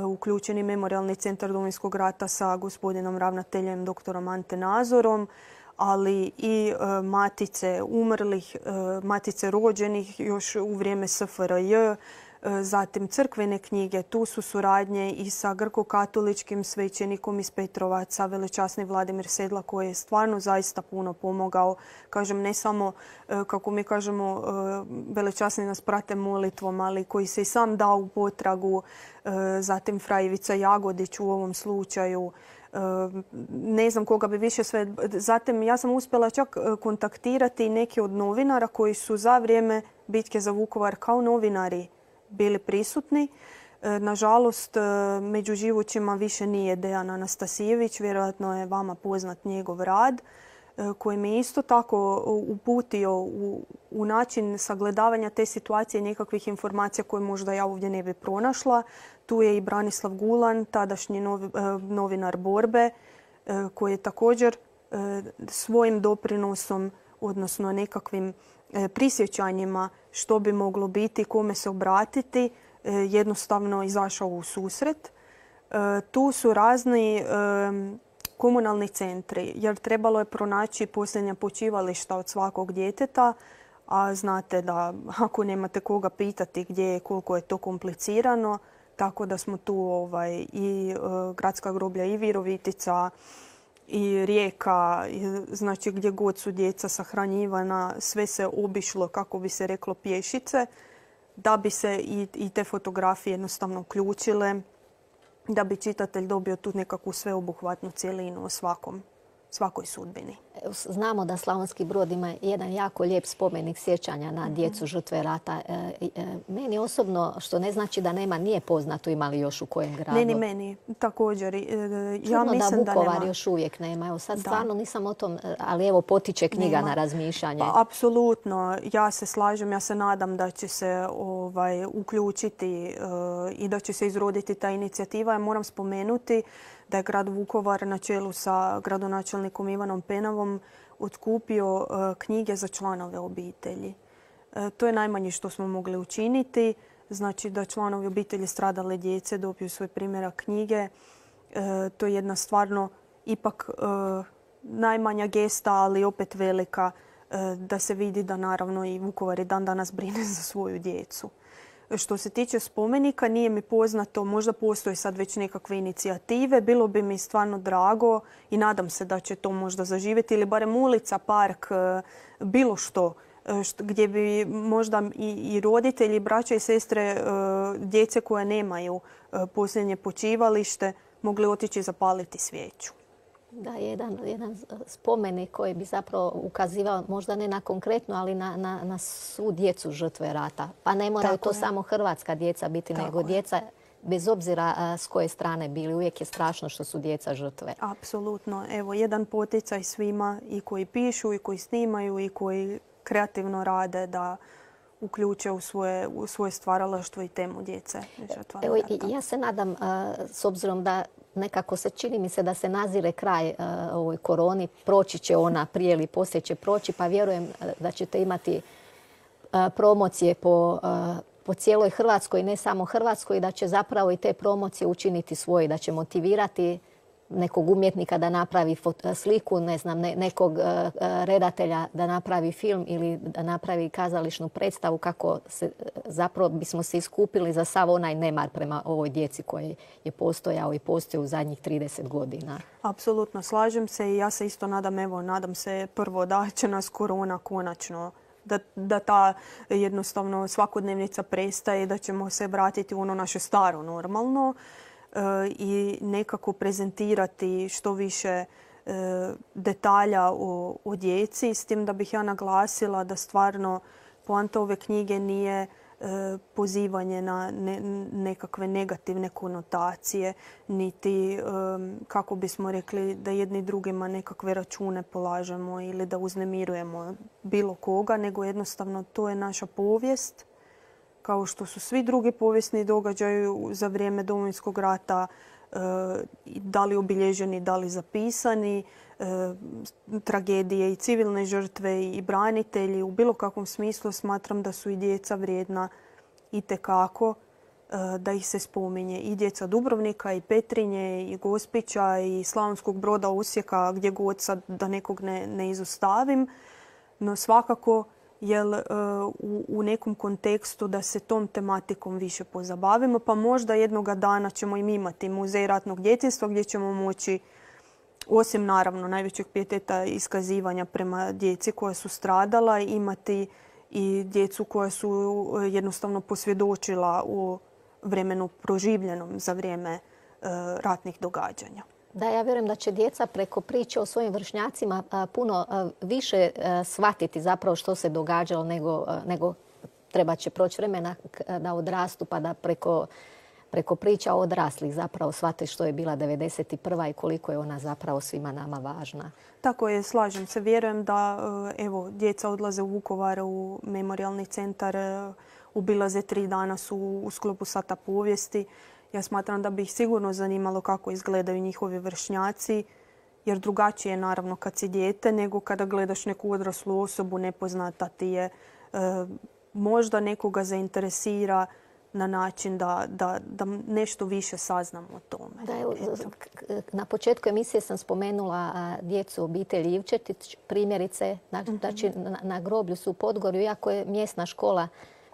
uključeni Memorijalni centar Domovinskog rata sa gospodinom ravnateljem doktorom Ante Nazorom, ali i matice umrlih, matice rođenih još u vrijeme SFRJ, zatim crkvene knjige. Tu su suradnje i sa grko-katoličkim svećenikom iz Petrovaca, velečasni Vladimir Sedla, koji je stvarno zaista puno pomogao. Kažem, ne samo, kako mi kažemo, velečasni nas prate molitvom, ali koji se i sam dao u potragu. Zatim fra Ivica Jagodić u ovom slučaju. Ne znam koga bi više sve... Zatim ja sam uspjela čak kontaktirati neke od novinara koji su za vrijeme bitke za Vukovar kao novinari bili prisutni. Nažalost, među živućima više nije Dejan Anastasijević. Vjerojatno je vama poznat njegov rad koji me isto tako uputio u način sagledavanja te situacije, nekakvih informacija koje možda ja ovdje ne bi pronašla. Tu je i Branislav Gulan, tadašnji novinar Borbe, koji je također svojim doprinosom, odnosno nekakvim prisjećanjima što bi moglo biti, kome se obratiti, jednostavno izašao u susret. Tu su razni komunalni centri, jer trebalo je pronaći posljednja počivališta od svakog djeteta, a znate da ako nemate koga pitati gdje je, koliko je to komplicirano, tako da smo tu i gradska groblja i Virovitica i Rijeka, znači gdje god su djeca sahranjivana, sve se obišlo, kako bi se reklo, pješice, da bi se i te fotografije jednostavno uključile, da bi čitatelj dobio tu nekakvu sveobuhvatnu cjelinu o svakoj sudbini. Znamo da Slavonski Brod ima jedan jako lijep spomenik sjećanja na djecu žrtve rata. Meni osobno, što ne znači da nema, nije poznato ima li još u kojem gradu. Ne, ni meni također. Ja mislim da Vukovar još uvijek nema. Evo sad stvarno nisam o tom, ali evo potiče knjiga na razmišljanje. Pa, apsolutno. Ja se slažem, ja se nadam da će se uključiti i da će se izroditi ta inicijativa. Ja moram spomenuti da je grad Vukovar na čelu sa gradonačelnikom Ivanom Penavom otkupio knjige za članove obitelji. To je najmanje što smo mogli učiniti. Znači da članovi obitelji stradale djece dobiju svoj primjerak knjige. To je jedna stvarno ipak najmanja gesta, ali opet velika, da se vidi da naravno i Vukovar i dan danas brine za svoju djecu. Što se tiče spomenika, nije mi poznato, možda postoje sad već nekakve inicijative. Bilo bi mi stvarno drago i nadam se da će to možda zaživjeti ili barem ulica, park, bilo što gdje bi možda i roditelji, braća i sestre djece koje nemaju posljednje počivalište mogli otići zapaliti svijeću. Da, jedan spomenik koji bi zapravo ukazivao možda ne na konkretno, ali na svu djecu žrtve rata. Pa ne moraju to samo hrvatska djeca biti, nego djeca bez obzira s koje strane bili. Uvijek je strašno što su djeca žrtve. Apsolutno. Evo, jedan poticaj svima, i koji pišu, i koji snimaju, i koji kreativno rade, da uključe u svoje stvaralaštvo i temu djece žrtva rata. Evo, ja se nadam, s obzirom da nekako se čini mi se da se nazire kraj ovoj koroni, proći će ona, prije ili poslije će proći, pa vjerujem da ćete imati promocije po cijeloj Hrvatskoj, ne samo Hrvatskoj, i da će zapravo i te promocije učiniti svoje, da će motivirati nekog umjetnika da napravi sliku, ne znam, nekog redatelja da napravi film ili da napravi kazališnu predstavu, kako zapravo bismo se iskupili za sav onaj nemar prema ovoj djeci koji je postojao i postoji u zadnjih 30 godina. Apsolutno, slažem se i ja se isto nadam se prvo da će nas korona konačno, da ta jednostavno svakodnevnica prestaje i da ćemo se vratiti u ono naše staro normalno i nekako prezentirati što više detalja o djeci. S tim da bih ja naglasila da stvarno poanta ove knjige nije pozivanje na nekakve negativne konotacije, niti, kako bismo rekli, da jedni drugima nekakve račune polažemo ili da uznemirujemo bilo koga, nego jednostavno to je naša povijest, kao što su svi drugi povijesni događaji za vrijeme Domovinskog rata, da li obilježeni, da li zapisani, tragedije i civilne žrtve i branitelji. U bilo kakvom smislu smatram da su i djeca vrijedna itekako da ih se spominje. I djeca Dubrovnika, i Petrinje, i Gospića, i Slavonskog Broda, Osijeka, gdje god sad da nekog ne izostavim. No svakako u nekom kontekstu da se tom tematikom više pozabavimo, pa možda jednoga dana ćemo im imati muzej ratnog djetinjstva gdje ćemo moći, osim naravno najvećeg pijeteta iskazivanja prema djeci koja su stradala, imati i djecu koja su jednostavno posvjedočila u vremenu proživljenom za vrijeme ratnih događanja. Da, ja vjerujem da će djeca preko priče o svojim vršnjacima puno više shvatiti zapravo što se događalo nego treba će proći vremena da odrastu pa da preko priča odraslih zapravo shvate što je bila 91. i koliko je ona zapravo svima nama važna. Tako je, slažem se. Vjerujem da djeca odlaze u Vukovar, u memorijalni centar, obilaze 3 dana su u sklopu Sata povijesti. Ja smatram da bi ih sigurno zanimalo kako izgledaju njihovi vršnjaci jer drugačije je naravno kad si dijete nego kada gledaš neku odraslu osobu, nepoznata ti je, možda nekoga zainteresira na način da nešto više saznamo o tome. Da, evo, na početku emisije sam spomenula djecu obitelji Ivčetić, primjerice. Znači, na groblju su u Podgorju, iako je mjesna škola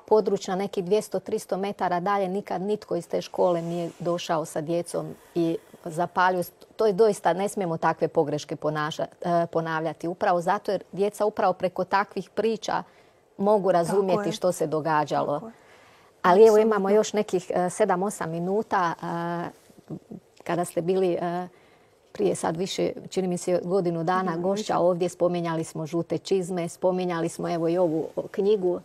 područna nekih 200-300 metara dalje, nikad nitko iz te škole nije došao sa djecom i zapalio. To je doista, ne smijemo takve pogreške ponavljati. Upravo zato jer djeca upravo preko takvih priča mogu razumjeti što se događalo. Ali evo imamo još nekih 7-8 minuta kada ste bili prije sad više, čini mi se godinu dana gošća ovdje, spominjali smo žute čizme, spominjali smo evo i ovu knjigu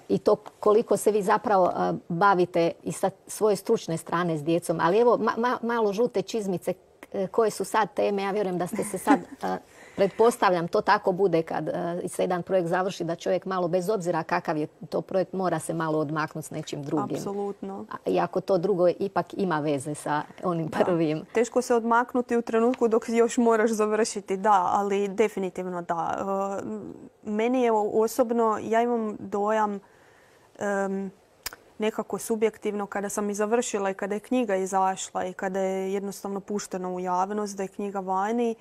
i to koliko se vi zapravo bavite i sa svoje stručne strane s djecom. Ali evo malo žute čizmice, koje su sad teme, ja vjerujem da ste se sad... Pretpostavljam, to tako bude kad se jedan projekt završi, da čovjek malo, bez obzira kakav je to projekt, mora se malo odmaknuti s nečim drugim. Apsolutno. Iako to drugo ipak ima veze sa onim prvim. Teško se odmaknuti u trenutku dok još moraš završiti, da, ali definitivno da. Meni je osobno, ja imam dojam nekako subjektivno kada sam i završila i kada je knjiga izašla i kada je jednostavno puštena u javnost, da je knjiga vani.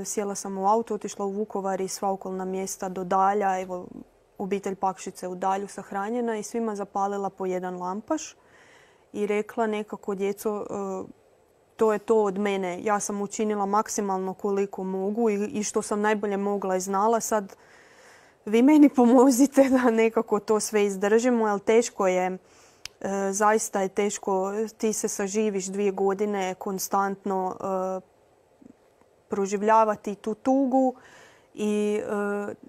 Sjela sam u auto, otišla u Vukovar i sva okolna mjesta do Dalja. Evo, obitelj Pakšice u Dalju sahranjena i svima zapalila po jedan lampaš i rekla nekako, djeco, to je to od mene. Ja sam učinila maksimalno koliko mogu i što sam najbolje mogla i znala. Sad vi meni pomozite da nekako to sve izdržimo, ali teško je. Zaista je teško. Ti se saživiš 2 godine konstantno proživljavati tu tugu i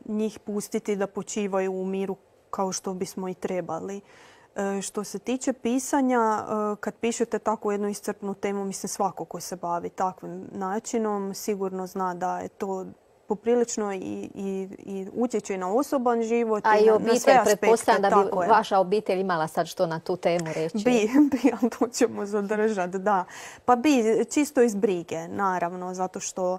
njih pustiti da počivaju u miru kao što bismo i trebali. Što se tiče pisanja, kad pišete tako jednu iscrpnu temu, mislim svako ko se bavi takvim načinom sigurno zna da je to poprilično i utječe na osoban život i na sve aspekte. Pretpostavljam da bi vaša obitelj imala sad što na tu temu reći. Bi, ali to ćemo zadržati, da. Pa bi, čisto iz brige, naravno, zato što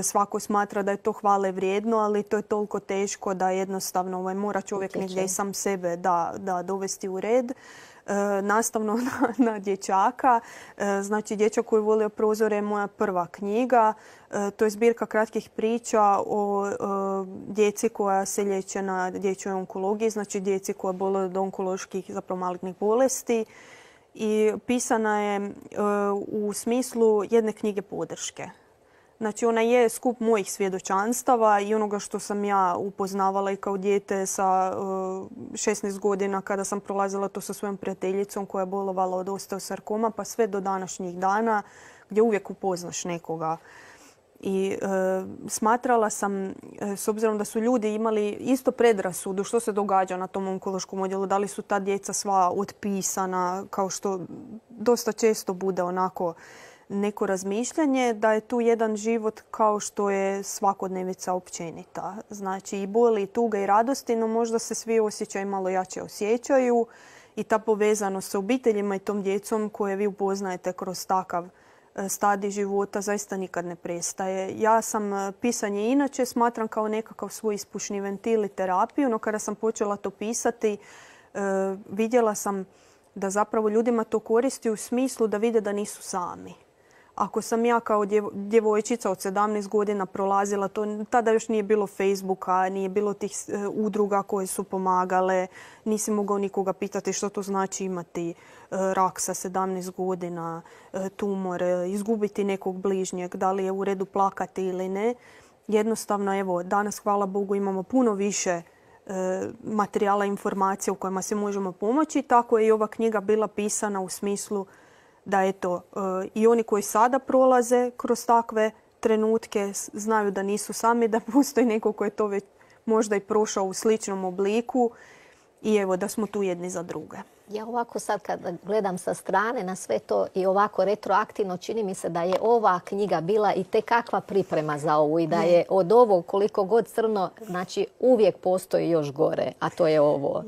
svako smatra da je to hvale vrijedno, ali to je toliko teško da jednostavno mora čovjek negdje i sam sebe da dovesti u red. Nastavno na dječaka. Znači, Dječak koji je volio prozore je moja prva knjiga. To je zbirka kratkih priča o djeci koja se liječe na dječjoj onkologiji, znači djeci koja boluju od onkoloških, zapravo malignih bolesti. I pisana je u smislu jedne knjige podrške. Znači, ona je skup mojih svjedočanstava i onoga što sam ja upoznavala i kao dijete sa 16 godina kada sam prolazila to sa svojom prijateljicom koja je bolovala od osteosarkoma, pa sve do današnjih dana gdje uvijek upoznaš nekoga. I smatrala sam, s obzirom da su ljudi imali isto predrasudu što se događa na tom onkološkom odjelu, da li su ta djeca sva otpisana, kao što dosta često bude onako neko razmišljanje, da je tu jedan život kao što je svakodnevica općenita. Znači i boli, i tuga, i radosti, no možda se svi osjećaji malo jače osjećaju i ta povezanost sa obiteljima i tom djecom koje vi upoznajete kroz takav stadij života zaista nikad ne prestaje. Ja sam pisanje inače smatram kao nekakav svoj ispušni ventil i terapiju, no kada sam počela to pisati vidjela sam da zapravo ljudima to koristi u smislu da vide da nisu sami. Ako sam ja kao djevojčica od 17 godina prolazila to, tada još nije bilo Facebooka, nije bilo tih udruga koje su pomagale, nisi mogao nikoga pitati što to znači imati rak sa 17 godina, tumor, izgubiti nekog bližnjeg, da li je u redu plakati ili ne. Jednostavno, evo, danas, hvala Bogu, imamo puno više materijala, informacija u kojima se možemo pomoći. Tako je i ova knjiga bila pisana u smislu da eto, i oni koji sada prolaze kroz takve trenutke znaju da nisu sami, da postoji neko koji je to već možda i prošao u sličnom obliku i evo da smo tu jedni za druge. Ja ovako sad kad gledam sa strane na sve to i ovako retroaktivno, čini mi se da je ova knjiga bila i tekakva priprema za ovu i da je od ovog koliko god crno, znači uvijek postoji još gore, a to je ovo.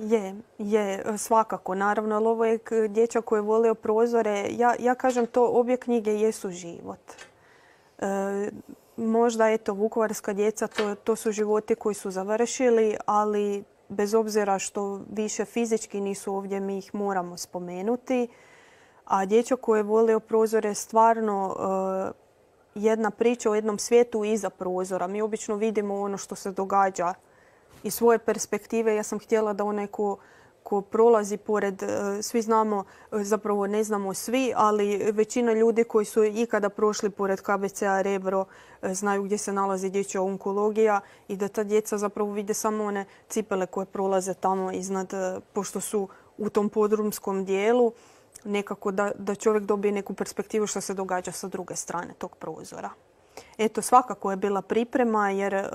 Je, svakako. Naravno, ali ovo je Dječak koji je volio prozore. Ja kažem to, obje knjige jesu život. Možda, eto, vukovarska djeca, to su životi koji su završili, ali bez obzira što više fizički nisu ovdje, mi ih moramo spomenuti. A dječak koji je volio prozore je stvarno jedna priča o jednom svijetu iza prozora. Mi obično vidimo ono što se događa iz svoje perspektive. Ja sam htjela da onaj ko prolazi pored, svi znamo, zapravo ne znamo svi, ali većina ljudi koji su ikada prošli pored KBC-a Rebro znaju gdje se nalazi dječja onkologija i da ta djeca zapravo vide samo one cipele koje prolaze tamo iznad, pošto su u tom podrumskom dijelu, nekako da čovjek dobije neku perspektivu što se događa sa druge strane tog prozora. Eto, svakako je bila priprema jer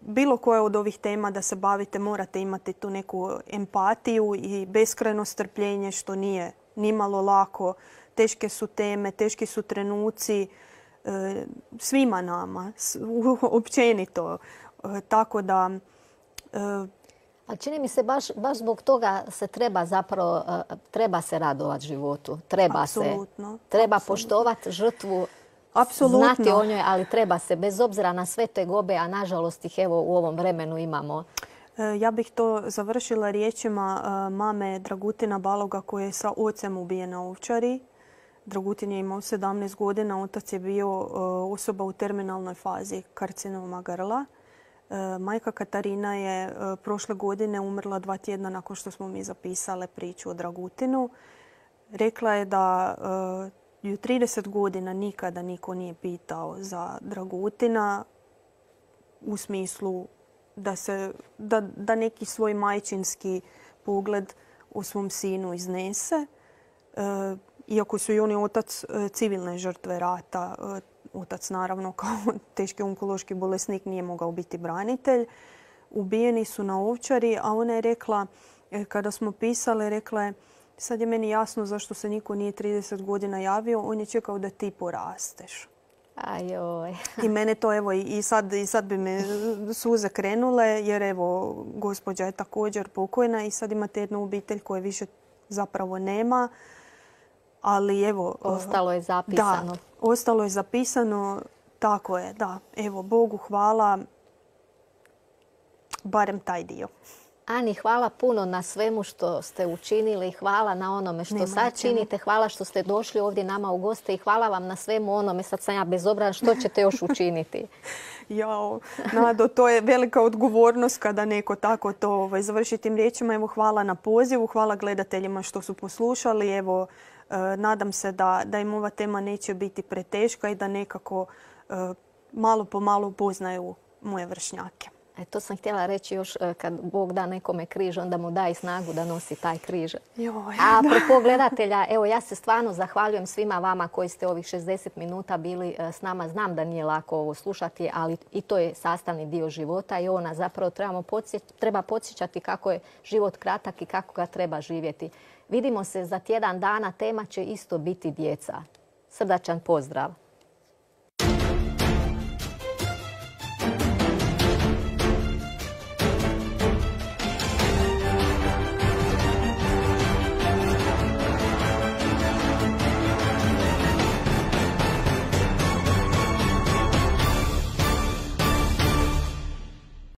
bilo koje od ovih tema da se bavite morate imati tu neku empatiju i beskrajno strpljenje što nije nimalo lako. Teške su teme, teški su trenuci svima nama, općenito. Tako da... Ali čini mi se baš zbog toga se treba se radovati životu. Treba poštovati žrtvu. Apsolutno. Znati o njoj, ali treba se, bez obzira na sve tegobe, a nažalost ih evo u ovom vremenu imamo. Ja bih to završila riječima mame Dragutina Baloga koja je sa ocem ubijen na Ovčari. Dragutin je imao 17 godina, otac je bio osoba u terminalnoj fazi karcinoma grla. Majka Katarina je prošle godine umrla 2 tjedna nakon što smo mi zapisale priču o Dragutinu. Rekla je da i u 30 godina nikada niko nije pitao za Dragutina u smislu da neki svoj majčinski pogled u svom sinu iznese. Iako su i oni otac civilne žrtve rata, otac naravno kao teški onkološki bolesnik nije mogao biti branitelj. Ubijeni su na Ovčari, a ona je rekla, kada smo pisale, rekla je sad je meni jasno zašto se niko nije 30 godina javio, on je čekao da ti porasteš. Ajoj. I mene to evo i sad bi me suze krenule jer evo gospođa je također pokojna i sad imate jednu obitelj koje više zapravo nema. Ali evo... Ostalo je zapisano. Da, ostalo je zapisano. Tako je, da. Evo, Bogu hvala. Barem taj dio. Ani, hvala puno na svemu što ste učinili. Hvala na onome što sad činite. Hvala što ste došli ovdje nama u goste i hvala vam na svemu onome. Sad sam ja bezobrazna. Što ćete još učiniti? Jao, Nado, to je velika odgovornost kada neko tako to završi tim riječima. Evo, hvala na pozivu. Hvala gledateljima što su poslušali. Evo, nadam se da im ova tema neće biti preteška i da nekako malo po malo upoznaju moje vršnjake. To sam htjela reći još kad Bog da nekome križ, onda mu da i snagu da nosi taj križ. A apropo gledatelja, evo ja se stvarno zahvaljujem svima vama koji ste ovih 60 minuta bili s nama. Znam da nije lako ovo slušati, ali i to je sastavni dio života i ovo nas zapravo treba podsjećati kako je život kratak i kako ga treba živjeti. Vidimo se za tjedan dana, tema će isto biti djeca. Srdačan pozdrav!